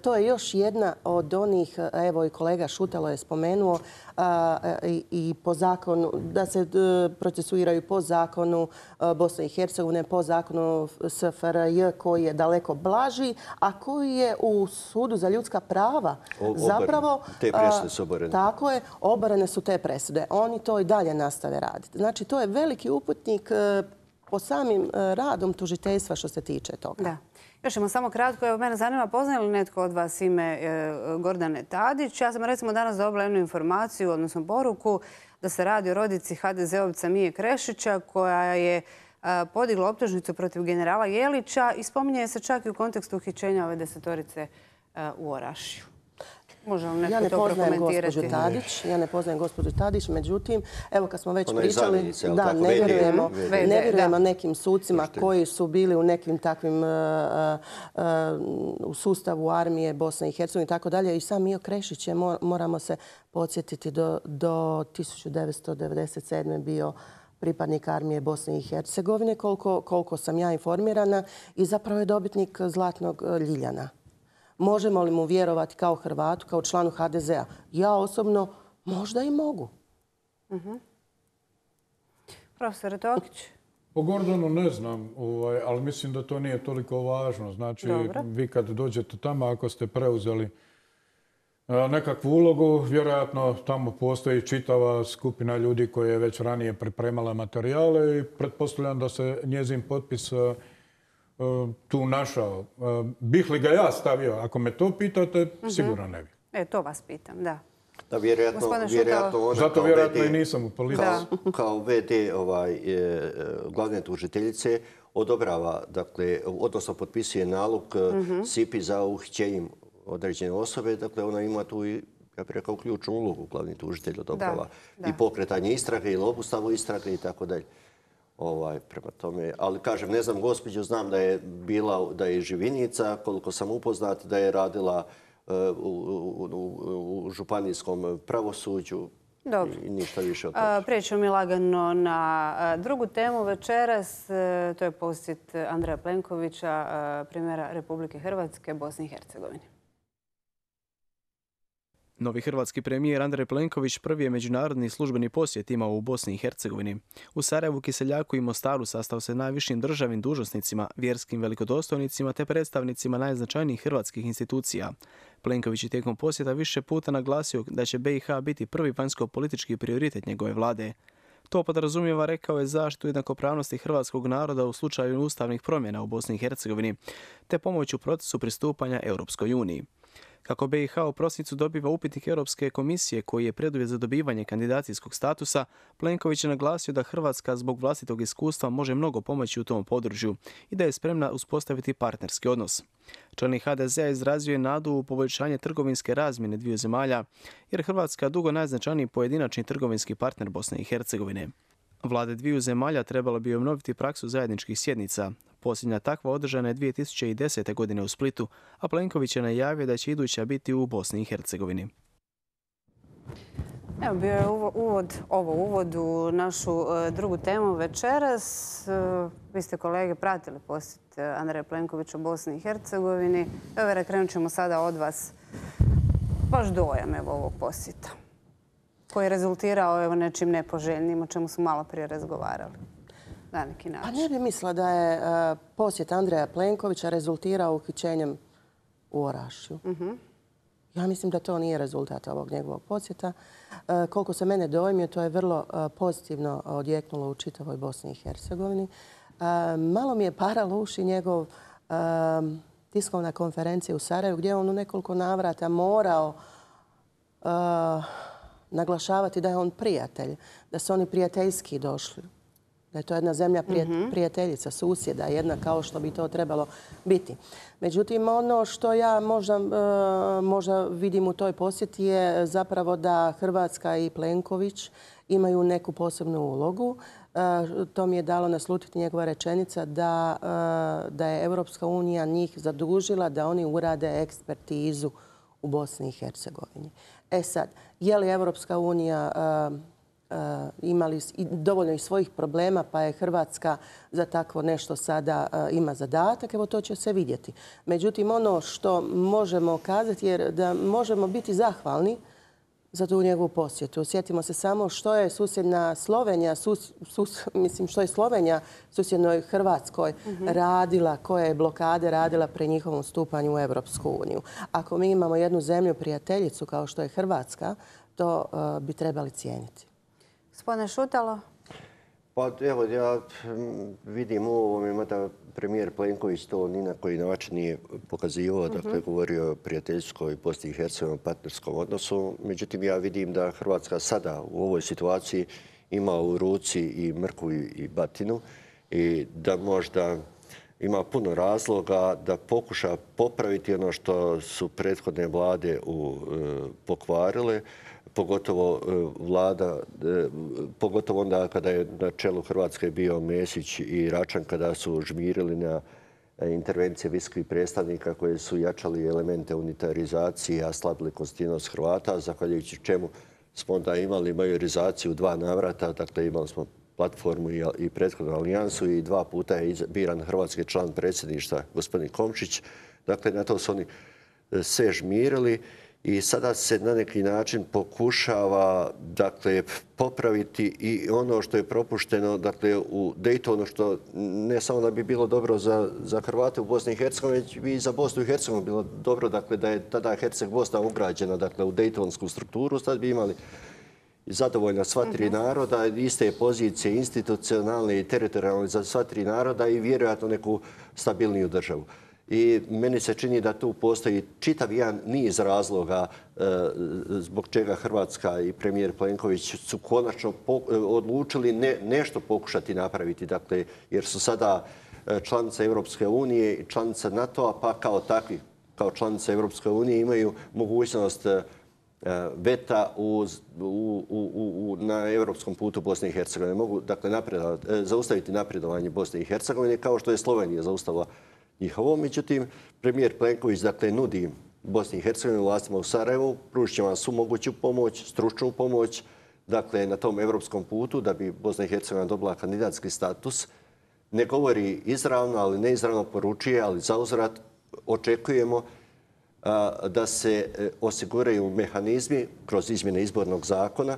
To je još jedna od onih, evo i kolega Šutalo je spomenuo, i po zakonu, da se procesuiraju po zakonu Bosne i Hercegovine, po zakonu SFRJ koji je daleko blaži, a koji je u Sudu za ljudska prava zapravo... Te presude su oborene. Tako je, oborene su te presude. Oni to i dalje nastave raditi. Znači, to je veliki uputnik po samim radom tužiteljstva što se tiče toga. Da. Još ćemo samo kratko. Evo, mene zanima, poznaje li netko od vas ime Gordane Tadić? Ja sam recimo danas dobila jednu informaciju, odnosno poruku, da se radi o rodici HDZ-ovca Mije Krešića koja je podigla optužnicu protiv generala Jelića i spominje se čak i u kontekstu uhićenja ove 10-torice u Orašju. Može li netko to prokomentirati? Ja ne poznajem gospođu Tadić, međutim, evo kad smo već Ona pričali, da, ne vjerujemo nekim sucima koji su bili u nekim takvim u sustavu armije Bosne i Hercegovine i tako dalje. I sam Mijo Krešić je, moramo se podsjetiti, do 1997. bio pripadnik armije Bosne i Hercegovine, koliko sam ja informirana, i zapravo je dobitnik Zlatnog Ljiljana. Možemo li mu vjerovati kao Hrvatu, kao članu HDZ-a? Ja osobno možda i mogu. Profesor Tokić? Po Gordonu ne znam, ali mislim da to nije toliko važno. Znači, vi kad dođete tamo, ako ste preuzeli nekakvu ulogu, vjerojatno tamo postoji čitava skupina ljudi koja je već ranije pripremala materijale i pretpostavljam da se njezin potpis tu našao. Bih li ga ja stavio? Ako me to pitate, sigurno ne bih. To vas pitam, da. Da, vjerojatno ona zato vjerojatno i nisam u policiji. Kao VD glavne tužiteljice odobrava, dakle, odnosno potpisuje nalog SIPI za uhićenjem određene osobe. Dakle, ona ima tu i, ja bih rekao, ključnu ulogu, glavni tužitelj odobrava. I pokretanje istrage ili obustavu istrage i tako dalje. Prema tome, ali kažem, ne znam gospođu, znam da je bila, da je živinica, koliko sam upoznat, da je radila u županijskom pravosuđu. Dobro. I ništa više od toga. Prijećemo mi lagano na drugu temu večeras. To je posjet Andreja Plenkovića, premijera Republike Hrvatske, Bosni i Hercegovini. Novi hrvatski premijer Andrej Plenković prvi je međunarodni službeni posjet imao u Bosni i Hercegovini. U Sarajevu, Kiseljaku i Mostaru sastao se najvišim državnim dužnosnicima, vjerskim velikodostojnicima te predstavnicima najznačajnijih hrvatskih institucija. Plenković je tijekom posjeta više puta naglasio da će BiH biti prvi vanjsko-politički prioritet njegove vlade. To podrazumijeva, rekao je, zaštitu jednakopravnosti hrvatskog naroda u slučaju ustavnih promjena u Bosni i Hercegovini, te pomoć u procesu pristupanja Europskoj uniji. Kako BiH u prosincu dobiva upitnik Europske komisije koji je preduvjet za dobivanje kandidacijskog statusa, Plenković je naglasio da Hrvatska zbog vlastitog iskustva može mnogo pomoći u tom području i da je spremna uspostaviti partnerski odnos. Čelnik HDZ-a izrazio je nadu u poboljšanje trgovinske razmjene dviju zemalja, jer Hrvatska dugo najznačajniji pojedinačni trgovinski partner Bosne i Hercegovine. Vlade dviju zemalja trebalo bi obnoviti praksu zajedničkih sjednica. Posljednja takva održana je 2010. godine u Splitu, a Plenković je najavio da će iduća biti u Bosni i Hercegovini. Evo, bio je uvod u našu drugu temu večeras. Vi ste, kolege, pratili posjet Andreja Plenkovića u Bosni i Hercegovini. Evo, krenut ćemo sada od vas. Vaš dojam ovog posjeta koji je rezultirao nečim nepoželjnim, o čemu smo malo prije razgovarali na neki način. Pa ne bi mislila da je posjet Andreja Plenkovića rezultirao uhićenjem u Orašju. Ja mislim da to nije rezultat ovog njegovog posjeta. Koliko se mene dojmio, to je vrlo pozitivno odjeknulo u čitavoj Bosni i Hercegovini. Malo mi je paralo uši njegov tiskovna konferencija u Sarajevu gdje je on u nekoliko navrata morao naglašavati da je on prijatelj, da su oni prijateljski došli. Da je to jedna zemlja prijateljica, susjeda, jedna kao što bi to trebalo biti. Međutim, ono što ja možda vidim u toj posjeti je zapravo da Hrvatska i Plenković imaju neku posebnu ulogu. To mi je dalo naslutiti njegova rečenica da je Europska unija njih zadužila da oni urade ekspertizu u Bosni i Hercegovini. E sad, je li Europska unija imali dovoljno i svojih problema, pa je Hrvatska za takvo nešto sada ima zadatak, evo to će se vidjeti. Međutim, ono što možemo kazati je da možemo biti zahvalni za tu njegovu posjetu. Sjetimo se samo što je susjedna Slovenija, što je Slovenija susjednoj Hrvatskoj radila, koje je blokade radila pri njihovom stupanju u Europsku uniju. Ako mi imamo jednu zemlju prijateljicu kao što je Hrvatska, to bi trebali cijeniti. Gospodine Šutalo? Pa evo, ja vidim u ovome, mada premijer Plenković to ni na koji način nije pokazivao, dakle govorio o prijateljskoj Bosni i Hercegovini partnerskom odnosu. Međutim, ja vidim da Hrvatska sada u ovoj situaciji ima u ruci i mrkvu i batinu i da možda ima puno razloga da pokuša popraviti ono što su prethodne vlade pokvarile, pogotovo onda kada je na čelu Hrvatske bio Mesić i Račan, kada su žmirili na intervencije visokih predstavnika koje su jačali elemente unitarizacije, a slabili konstitutivnost Hrvata, zahvaljujući čemu smo onda imali majorizaciju u 2 navrata. Dakle, imali smo platformu i prethodnu alijansu i 2 puta je biran hrvatski član predsjedništva, gospodin Komšić. Dakle, na to su oni sve žmirili. I sada se na neki način pokušava popraviti i ono što je propušteno u Daytonu, što ne samo da bi bilo dobro za Hrvate u Bosni i Hercegovini, već bi i za Bosnu i Hercegovinu bilo dobro da je tada Herceg-Bosna ugrađena u Daytonsku strukturu. Sad bi imali zadovoljna sva 3 naroda, iste pozicije institucionalne i teritorijalne za sva 3 naroda i vjerojatno neku stabilniju državu. I meni se čini da tu postoji čitav jedan niz razloga zbog čega Hrvatska i premijer Plenković su konačno odlučili nešto pokušati napraviti. Dakle, jer su sada članica Europske unije i članica NATO-a, pa kao takvi, kao članica Europske unije imaju mogućnost veta na europskom putu Bosne i Hercegovine. Mogu zaustaviti napredovanje Bosne i Hercegovine kao što je Slovenija zaustavila njihovo. Međutim, premijer Plenković nudi Bosni i Hercegovini, vlastima u Sarajevu, pružit će vam svu moguću pomoć, stručnu pomoć, na tom europskom putu da bi Bosna i Hercegovina dobila kandidatski status. Ne govori izravno, ali neizravno poručuje, ali zauzvrat očekujemo da se osiguraju mehanizmi kroz izmjene izbornog zakona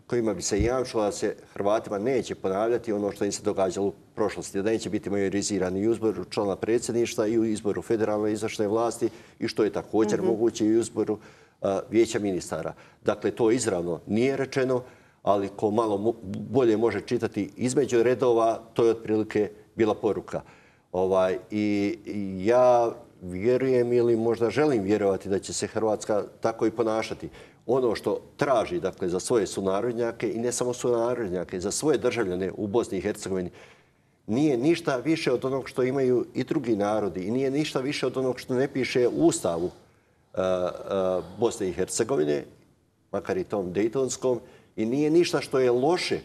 kojima bi se jamčilo da se Hrvatima neće ponavljati ono što im se događalo u prošlosti, da neće biti majorizirani i u izboru člana predsjedništva i u izboru federalne izvršne vlasti i što je također moguće i u izboru vijeća ministara. Dakle, to izravno nije rečeno, ali ko malo bolje može čitati između redova, to je otprilike bila poruka. I ja vjerujem ili možda želim vjerovati da će se Hrvatska tako i ponašati. Ono što traži za svoje sunarodnjake i ne samo sunarodnjake, za svoje državljane u Bosni i Hercegovini, nije ništa više od onog što imaju i drugi narodi i nije ništa više od onog što ne piše u Ustavu Bosne i Hercegovine, makar i tom Daytonskom, i nije ništa što je loše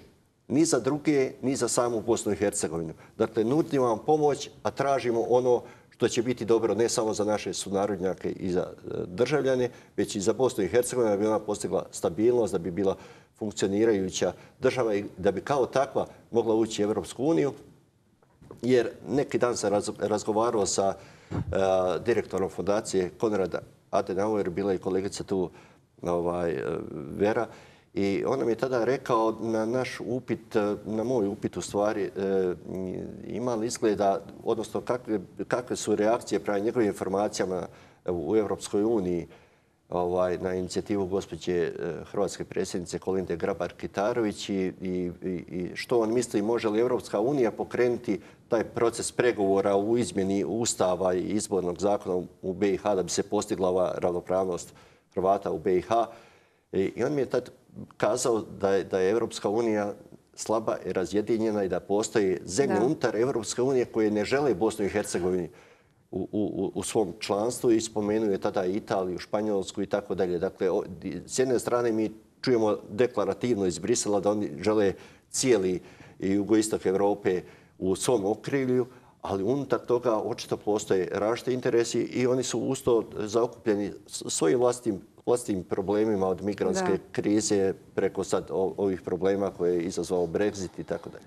ni za druge, ni za samu Bosnu i Hercegovinu. Dakle, nudimo vam pomoć, a tražimo ono što će biti dobro ne samo za naše sunarodnjake i za državljane, već i za Bosnu i Hercegovinu, da bi ona postigla stabilnost, da bi bila funkcionirajuća država i da bi kao takva mogla ući u Europsku uniju. Jer neki dan sam razgovarao sa direktorom fondacije Konrada Adenauer, bila je kolegica tu Vera, i ona mi je tada rekao na naš upit, na moj upit u stvari, ima li izgleda, odnosno kakve su reakcije prema njegovim informacijama u Europskoj uniji na inicijativu gospođe hrvatske predsjednice Kolinde Grabar-Kitarović i što on misli može li Europska unija pokrenuti taj proces pregovora u izmjeni Ustava i izbornog zakona u BiH da bi se postigla ova ravnopravnost Hrvata u BiH. I on mi je tad kazao da je Europska unija slaba i razjedinjena i da postoji zemlje unutar Europske unije koje ne žele Bosnu i Hercegovini u svom članstvu i spomenuje tada Italiju, Španjolsku i tako dalje. Dakle, s jedne strane mi čujemo deklarativno iz Brisela da oni žele cijeli jugoistok Europe u svom okrilju, ali unutar toga očito postoje različiti interesi i oni su uz to zaokupljeni svojim vlastitim problemima od migrantske krize preko sad ovih problema koje je izazvao Brexit i tako dalje.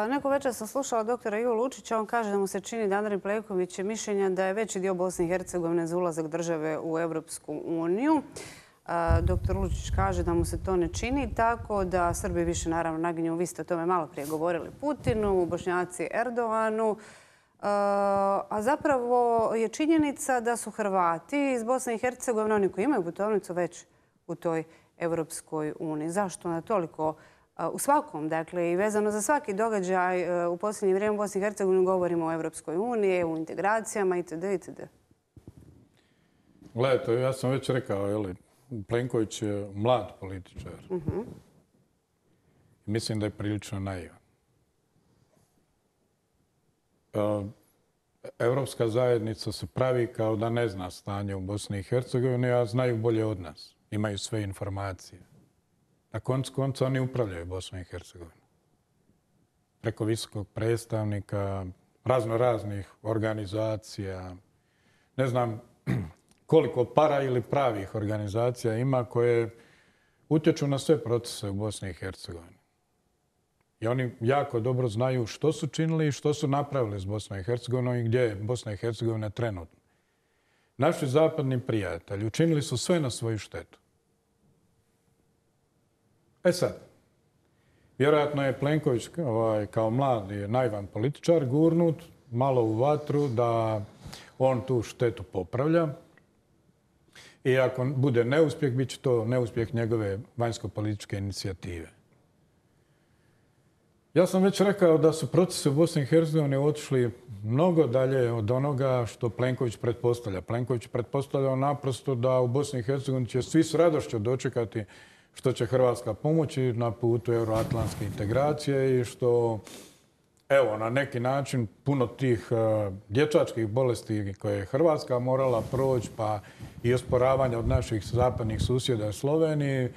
Neko večer sam slušala doktora Ivu Lučića. On kaže da mu se čini da Andrej Plenković je mišljenja da je veći dio Bosne i Hercegovine za ulazak države u Europsku uniju. Doktor Lučić kaže da mu se to ne čini, tako da Srbi više naravno naginju, vi ste o tome malo prije govorili, Putinu, Bošnjaci Erdoganu. A zapravo je činjenica da su Hrvati iz Bosne i Hercegovine, oni koji imaju putovnicu, već u toj Europskoj uniji. Zašto na toliko u svakom, dakle i vezano za svaki događaj u posljednje vrijeme u Bosni i Hercegovini govorimo o Europskoj uniji, u integracijama itd. itd. Gledajte, ja sam već rekao, Plenković je mlad političar. Mislim da je prilično naivan. Europska zajednica se pravi kao da ne zna stanje u Bosni i Hercegovini, a znaju bolje od nas. Imaju sve informacije. Na koncu konca oni upravljaju Bosnom i Hercegovinom. Preko visokog predstavnika, raznih organizacija. Ne znam koliko para ili pravih organizacija ima koje utječu na sve procese u Bosni i Hercegovini. I oni jako dobro znaju što su činili i što su napravili s Bosnom i Hercegovinom i gdje je Bosna i Hercegovina trenutno. Naši zapadni prijatelji učinili su sve na svoju štetu. Sad, vjerojatno je Plenković kao mlad i naivan političar gurnut malo u vatru da on tu štetu popravlja. I ako bude neuspjeh, bit će to neuspjeh njegove vanjsko-političke inicijative. Ja sam već rekao da su procesi u Bosni i Hercegovini otišli mnogo dalje od onoga što Plenković pretpostavlja. Plenković pretpostavlja naprosto da u Bosni i Hercegovini će svi s radošću dočekati što će Hrvatska pomoći na putu euroatlantske integracije i što, na neki način puno tih dječačkih bolesti koje je Hrvatska morala proći, pa i osporavanja od naših zapadnih susjeda u Sloveniji,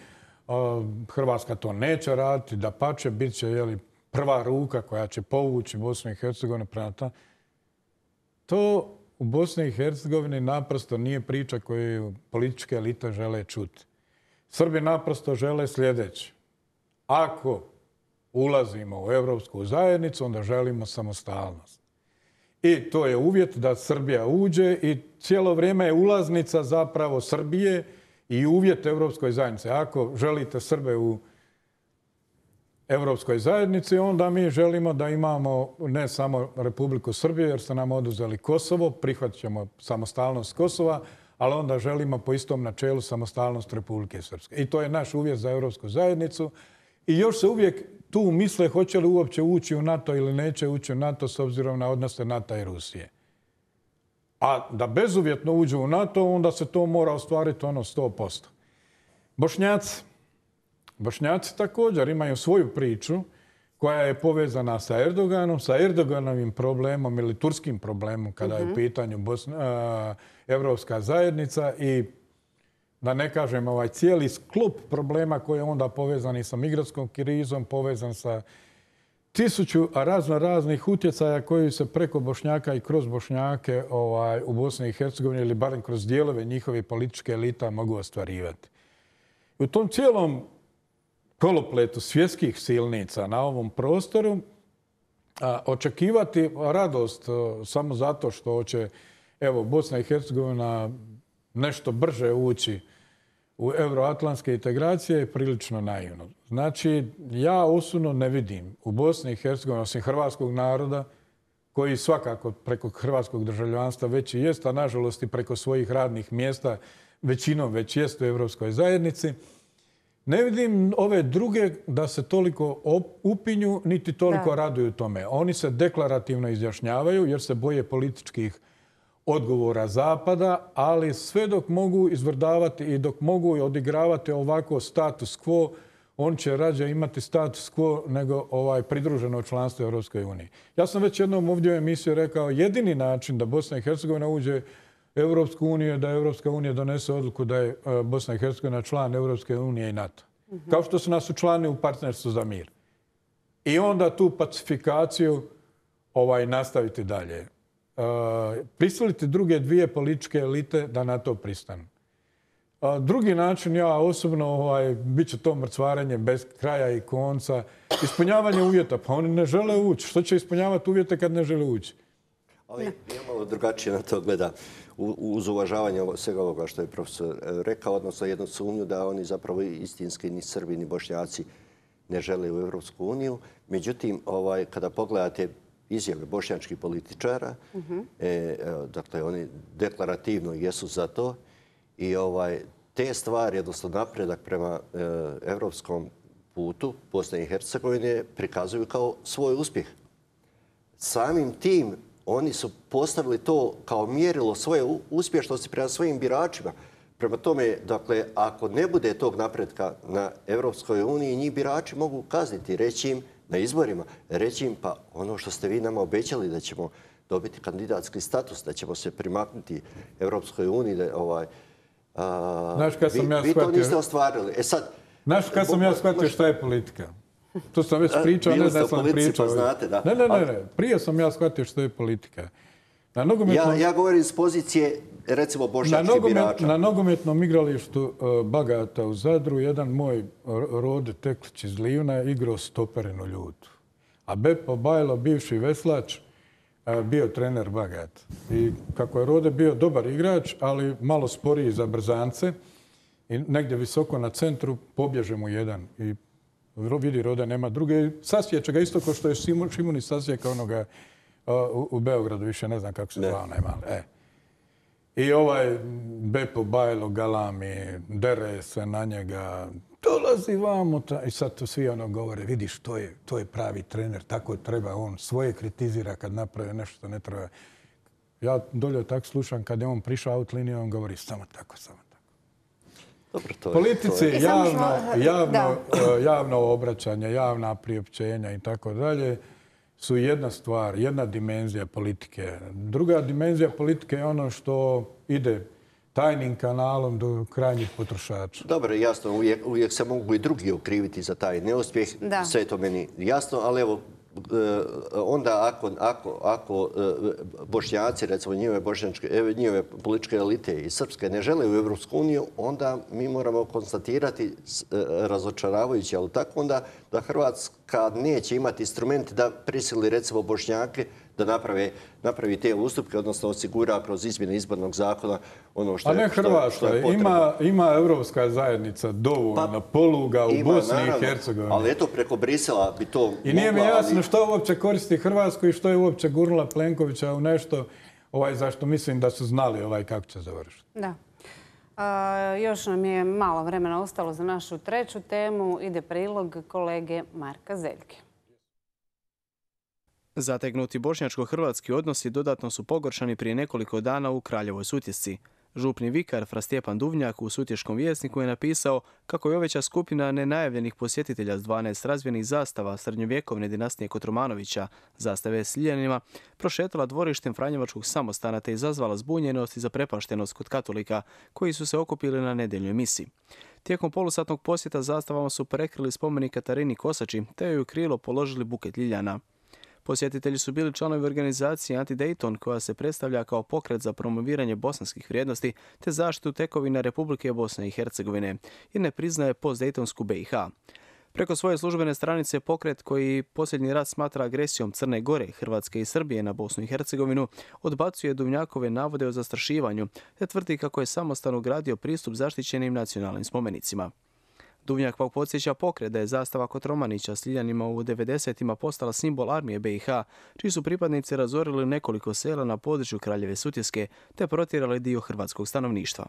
Hrvatska to neće raditi, dapače, bit će prva ruka koja će povući Bosnu i Hercegovinu prema tamo. To u Bosni i Hercegovini naprosto nije priča koju političke elite žele čuti. Srbi naprosto žele sljedeće. Ako ulazimo u Europsku zajednicu, onda želimo samostalnost. I to je uvjet da Srbija uđe i cijelo vrijeme je ulaznica zapravo Srbije i uvjet Europskoj zajednici. Ako želite Srbe u Europskoj zajednici, onda mi želimo da imamo ne samo Republiku Srbiju, jer ste nam oduzeli Kosovo, prihvatit ćemo samostalnost Kosova, ali onda želimo po istom načelu samostalnost Republike Srpske. I to je naš uvjet za Europsku zajednicu. I još se uvijek tu misle hoće li uopće ući u NATO ili neće ući u NATO s obzirom na odnose NATO i Rusije. A da bezuvjetno uđu u NATO, onda se to mora ostvariti 100%. Bošnjaci također imaju svoju priču koja je povezana sa Erdoganom, sa Erdoganovim problemom ili turskim problemom kada je u pitanju Europska zajednica i da ne kažem cijeli sklop problema koji je onda povezan i sa migrantskom krizom, povezan sa 1000 raznih utjecaja koji se preko Bošnjaka i kroz Bošnjake u Bosni i Hercegovini ili barem kroz dijelove njihove političke elita mogu ostvarivati. U tom cijelom kolopletu svjetskih silnica na ovom prostoru očekivati radost samo zato što će Bosna i Hercegovina nešto brže ući u euroatlantske integracije je prilično naivno. Znači, ja osobno ne vidim u Bosni i Hercegovini, osim hrvatskog naroda, koji svakako preko hrvatskog državljanstva već i jest, a nažalost i preko svojih radnih mjesta većinom već jest u Europskoj zajednici, ne vidim ove druge da se toliko upinju, niti toliko raduju tome. Oni se deklarativno izjašnjavaju jer se boje političkih odgovora Zapada, ali sve dok mogu izvrdavati i dok mogu odigravati ovako status quo, on će rađe imati status quo nego pridruženo članstvo Europskoj uniji. Ja sam već jednom ovdje u emisiji rekao, jedini način da Bosna i Hercegovina uđe u Europsku uniju je da Europska unija donese odluku da je Bosna i Hercegovina član Europske unije i NATO. Kao što su nas učlanili u partnerstvu za mir. I onda tu pacifikaciju nastaviti dalje. Prisiliti druge dvije političke elite da na to pristanu. Drugi način, ja osobno, bit će to mrcvarenje bez kraja i konca. Ispunjavanje uvjeta, pa oni ne žele ući. Što će ispunjavati uvjete kad ne žele ući? Ali ja malo drugačije na to gleda. Uz uvažavanje svega ovoga što je profesor rekao, odnosno jednu sumnju da oni zapravo istinski ni Srbi ni Bošnjaci ne žele u Europsku uniju. Međutim, kada pogledate izjave bošnjačkih političara, dakle oni deklarativno jesu za to i te stvari, odnosno napredak prema europskom putu Bosne i Hercegovine prikazuju kao svoj uspjeh. Samim tim oni su postavili to kao mjerilo svoje uspješnosti prema svojim biračima. Prema tome, dakle, ako ne bude tog napretka na Europskoj uniji, njih birači mogu kazniti, reći im na izborima, reći im pa ono što ste vi nama obećali da ćemo dobiti kandidatski status, da ćemo se primaknuti Europskoj uniji, vi to niste ostvarili. Znaš kad sam ja shvatio šta je politika? To sam već pričao, ne znam sam pričao. Ne. Prije sam ja shvatio što je politika. Ja govorim iz pozicije, recimo, bošnjačkih birača. Na nogometnom igralištu Bagata u Zadru jedan moj Rode Teklić iz Livna je igrao stoperenu ljutu. A Bepo Bajlo, bivši veslač, bio trener Bagata. I kako je Rode bio dobar igrač, ali malo sporiji za brzance, i negdje visoko na centru pobježe mu jedan. I vidi Rode nema druge. Sasjeće ga isto kao što je Šimunić sasjeka onoga u Beogradu, više ne znam kako se zvao najmali. I Bepo Bajlo galami, dere se na njega, dolazi vamo. I sad to svi govore, vidiš, to je pravi trener, tako treba. On svoje kritizira kad napravi nešto što ne treba. Ja dolje tako slušam, kad je on prišao out liniju, on govori samo tako. Politici javno obraćanje, javna priopćenja i tako dalje su jedna stvar, jedna dimenzija politike. Druga dimenzija politike je ono što ide tajnim kanalom do krajnjih potrošača. Dobro, jasno, uvijek se mogu i drugi okriviti za taj neuspjeh. Sve je to meni jasno, ali evo, onda ako Bošnjaci, recimo njihove političke elite i srpske ne žele u Europsku uniju, onda mi moramo konstatirati razočaravajući, ali tako onda da Hrvatska neće imati instrumente da prisili recimo Bošnjake da napravi te ustupke, odnosno osigura kroz izmjene izbornog zakona ono što je potrebno. A ne Hrvatska, ima Europska zajednica dovoljno poluga u Bosni i Hercegovini. Ali eto, preko Brisela bi to mogla... I nije mi jasno što uopće koristi Hrvatsku i što je uopće gurnula Plenkovića u nešto zašto mislim da su znali kako će završiti. Da. Još nam je malo vremena ostalo za našu treću temu. Ide prilog kolege Marka Zeljke. Zategnuti bošnjačko-hrvatski odnosi dodatno su pogoršani prije nekoliko dana u Kraljevoj Sutjesci. Župni vikar Fra Stjepan Duvnjak u Sutješkom vjesniku je napisao kako je oveća skupina nenajavljenih posjetitelja s 12 razvijenih zastava srednjovjekovne dinastije Kotromanovića, zastave s liljanima, prošetala dvorištem Franjevačkog samostana te izazvala zbunjenost i zaprepaštenost kod katolika koji su se okupili na nedjeljnoj misi. Tijekom polusatnog posjeta zastavama su prekrili spomenik Katarini Kosači te joj u krilo položili buket ljiljana. Posjetitelji su bili članovi organizacije Anti-Dayton koja se predstavlja kao pokret za promoviranje bosanskih vrijednosti te zaštitu tekovina Republike Bosne i Hercegovine i ne priznaje postdejtonsku BiH. Preko svoje službene stranice pokret koji posljednji rat smatra agresijom Crne Gore, Hrvatske i Srbije na Bosnu i Hercegovinu odbacuje Duvnjakove navode o zastrašivanju te tvrdi kako je samostalno gradio pristup zaštićenim nacionalnim spomenicima. Duvnjak pak podsjeća pokret da je zastava Kotromanića s liljanima u 90-ima postala simbol armije BiH, čiji su pripadnici razorili nekoliko sela na području Kraljeve Sutjeske te protjerali dio hrvatskog stanovništva.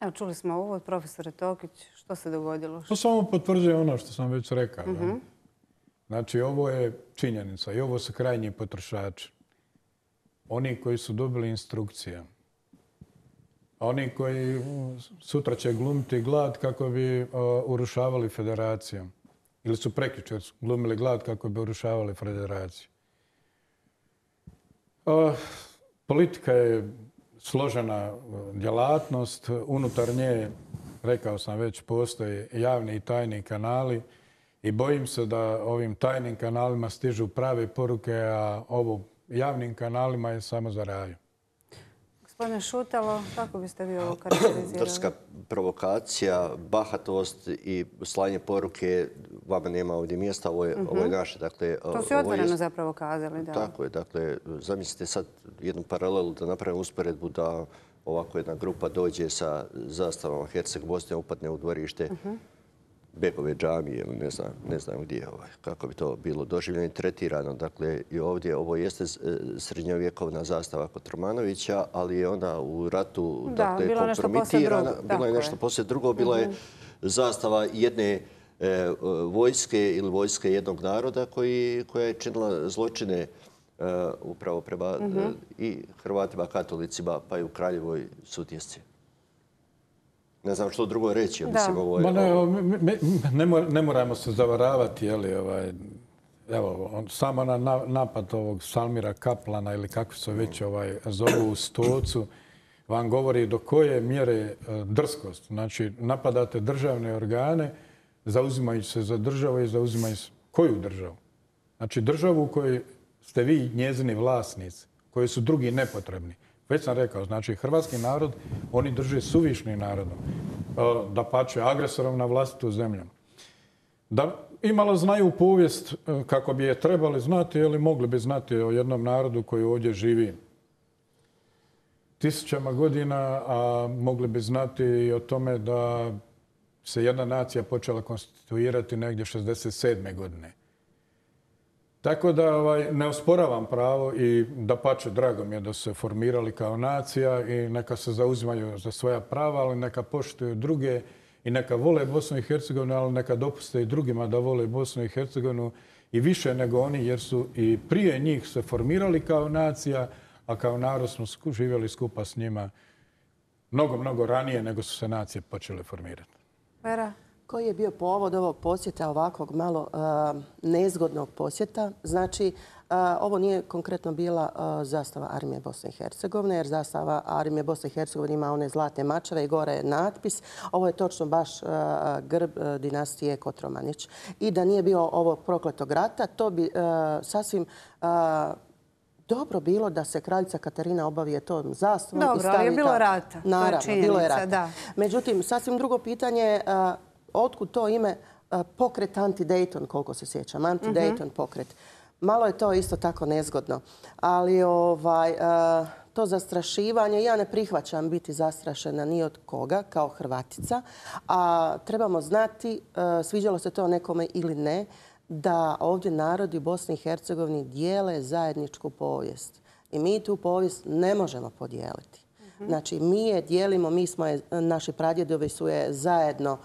Evo, čuli smo ovo od profesora Tokić. Što se dogodilo? To samo potvrđuje ono što sam već rekao. Znači, ovo je činjenica i ovo su krajnji potrošači. Oni koji su dobili instrukcije. Oni koji sutra će glumiti glad kako bi urušavali federaciju. Ili su prekjučer glumili glad kako bi urušavali federaciju. Politika je složena djelatnost. Unutar nje, rekao sam već, postoje javni i tajni kanali i bojim se da ovim tajnim kanalima stižu prave poruke, a ovo javnim kanalima je samo za raju. Gospodine Šutalo, kako biste vi ovo karakterizirali? Drska provokacija, bahatost i slanje poruke, vama nema ovdje mjesta, ovo je naše. Dakle, to su otvoreno zapravo kazali. Da. Tako je. Dakle, zamislite sad jednu paralelu da napravimo usporedbu da ovako jedna grupa dođe sa zastavama Herceg-Bosne, upadne u dvorište Bekove džamije, ne znam gdje, kako bi to bilo doživljeno i tretirano. Dakle, i ovdje ovo jeste srednjovjekovna zastava Kotromanovića, ali je ona u ratu kompromitirana. Bilo je nešto poslije drugo. Bila je zastava jedne vojske ili vojske jednog naroda koja je činila zločine upravo prema i Hrvatima, katolicima, pa i u Kraljevoj Sutjesci. Ne znam što drugo reći. Ne moramo se zavaravati. Evo, samo na napad ovog Salmira Kaplana ili kako se već zovu u Stocu vam govori do koje mjere drskost. Znači, napadate državne organe, zauzimajući se za državu i zauzimajući koju državu? Znači, državu u kojoj ste vi njezini vlasnici, koji su drugi nepotrebni. Već sam rekao, znači hrvatski narod, oni drže suvišnim narodom. Dapače, agresorom na vlastitu zemlju. Da imalo znaju povijest kako bi je trebali znati, ili mogli bi znati o jednom narodu koji ovdje živi tisućama godina, a mogli bi znati i o tome da se jedna nacija počela konstituirati negdje 67. godine. Tako da ne osporavam pravo i dapače, drago mi je da su se formirali kao nacija i neka se zauzimaju za svoja prava, ali neka poštuju druge i neka vole Bosnu i Hercegovinu, ali neka dopuste i drugima da vole Bosnu i Hercegovinu i više nego oni, jer su i prije njih se formirali kao nacija, a kao narod smo živjeli skupa s njima mnogo ranije nego su se nacije počele formirati. Vera? Koji je bio povod ovog posjeta, ovakvog malo nezgodnog posjeta? Znači, ovo nije konkretno bila zastava Armije Bosne i Hercegovine, jer zastava Armije Bosne i Hercegovine ima one zlatne mačeve i gore je natpis. Ovo je točno baš grb dinastije Kotromanić. I da nije bio ovog prokletog rata, to bi sasvim dobro bilo da se kraljica Katarina obavije tom zastavom. Dobro, ali je bilo rata. Naravno, bilo je rata. Međutim, sasvim drugo pitanje, otkud to ime pokret Anti-Dayton, koliko se sjećam, Anti-Dayton pokret. Malo je to isto tako nezgodno. Ali to zastrašivanje, ja ne prihvaćam biti zastrašena ni od koga, kao Hrvatica. A trebamo znati, sviđalo se to nekome ili ne, da ovdje narodi u Bosni i Hercegovini dijele zajedničku povijest. I mi tu povijest ne možemo podijeliti. Znači, mi je dijelimo, naši pradjedovi su je zajedno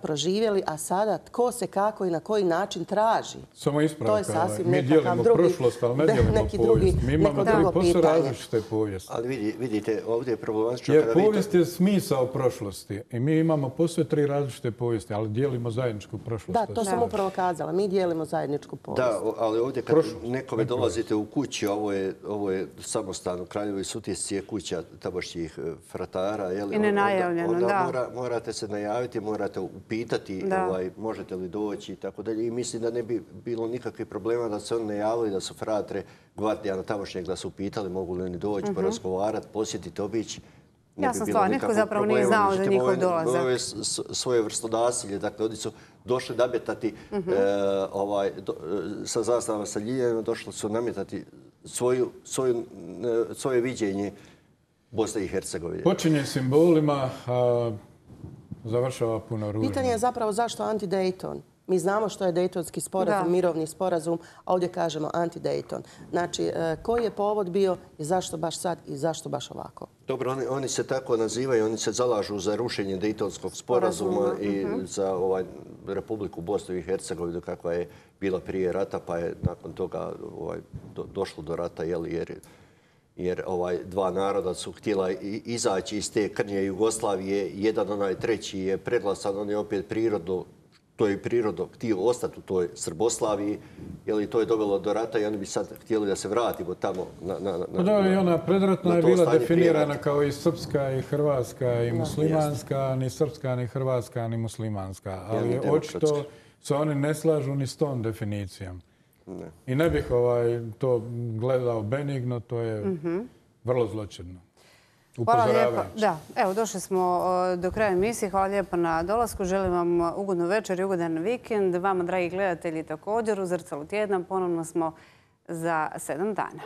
proživjeli, a sada tko se kako i na koji način traži. Samo ispravka. To je sasvim Mi nekakav dijelimo drugi, prošlost, ali ne dijelimo povijest. Mi imamo neko drugo posve pitanje. različite povijesti. Ali vidite, ovdje je problematično Jer kada vidite... povijest je smisao prošlosti i mi imamo posve 3 različite povijesti, ali dijelimo zajedničku prošlost. Da, to sam upravo kazala. Mi dijelimo zajedničku povijest. Da, ali ovdje kad nekome dolazite u kući, ovo je samostan u Kraljevoj Sutjesci, je kuća tamošnjih fratara. I nenajavljeno, da. Onda morate se najaviti, morate upitati možete li doći i tako dalje. I mislim da ne bi bilo nikakvih problema da se oni najavili, da su fratre gvardijana tamošnjeg, da su upitali mogu li oni doći, porazgovarati, posjetiti, obići. Jasna stvar, nitko zapravo nije znao za njihov dolazak. Ovo je svoje vrsto nasilje, dakle, oni su došli nametati sa zastavama sa ljiljevima, došli su nametati svoje viđenje Bosne i Hercegovine. Počinje simbolima, a završava puno ružno. Pitanje je zapravo zašto anti-Dayton? Mi znamo što je Daytonski sporazum, mirovni sporazum, a ovdje kažemo anti-Dayton. Znači, koji je povod bio i zašto baš sad i zašto baš ovako? Dobro, oni se tako nazivaju, oni se zalažu za rušenje Daytonskog sporazuma i za Republiku Bosnu i Hercegovinu kakva je bila prije rata, pa je nakon toga došlo do rata, jer dva naroda su htjela izaći iz te krnje Jugoslavije. Jedan, treći je preglasan, on je opet prirodno, to je prirodno htio ostati u toj Srboslaviji, jer to je dovelo do rata i oni bi sad htjeli da se vratimo tamo Da, i ona predratna je bila definirana kao i srpska i hrvatska i muslimanska, ni srpska, ni hrvatska, ni muslimanska. Ali očito se oni ne slažu ni s tom definicijom. I ne bih to gledao benigno, to je vrlo zločinno. Hvala lijepa. Da, evo, došli smo do kraja emisije. Hvala lijepa na dolasku. Želim vam ugodnu večer i ugodan vikend. Vama, dragi gledatelji, također u Zrcalu tjedna. Ponovno smo za 7 dana.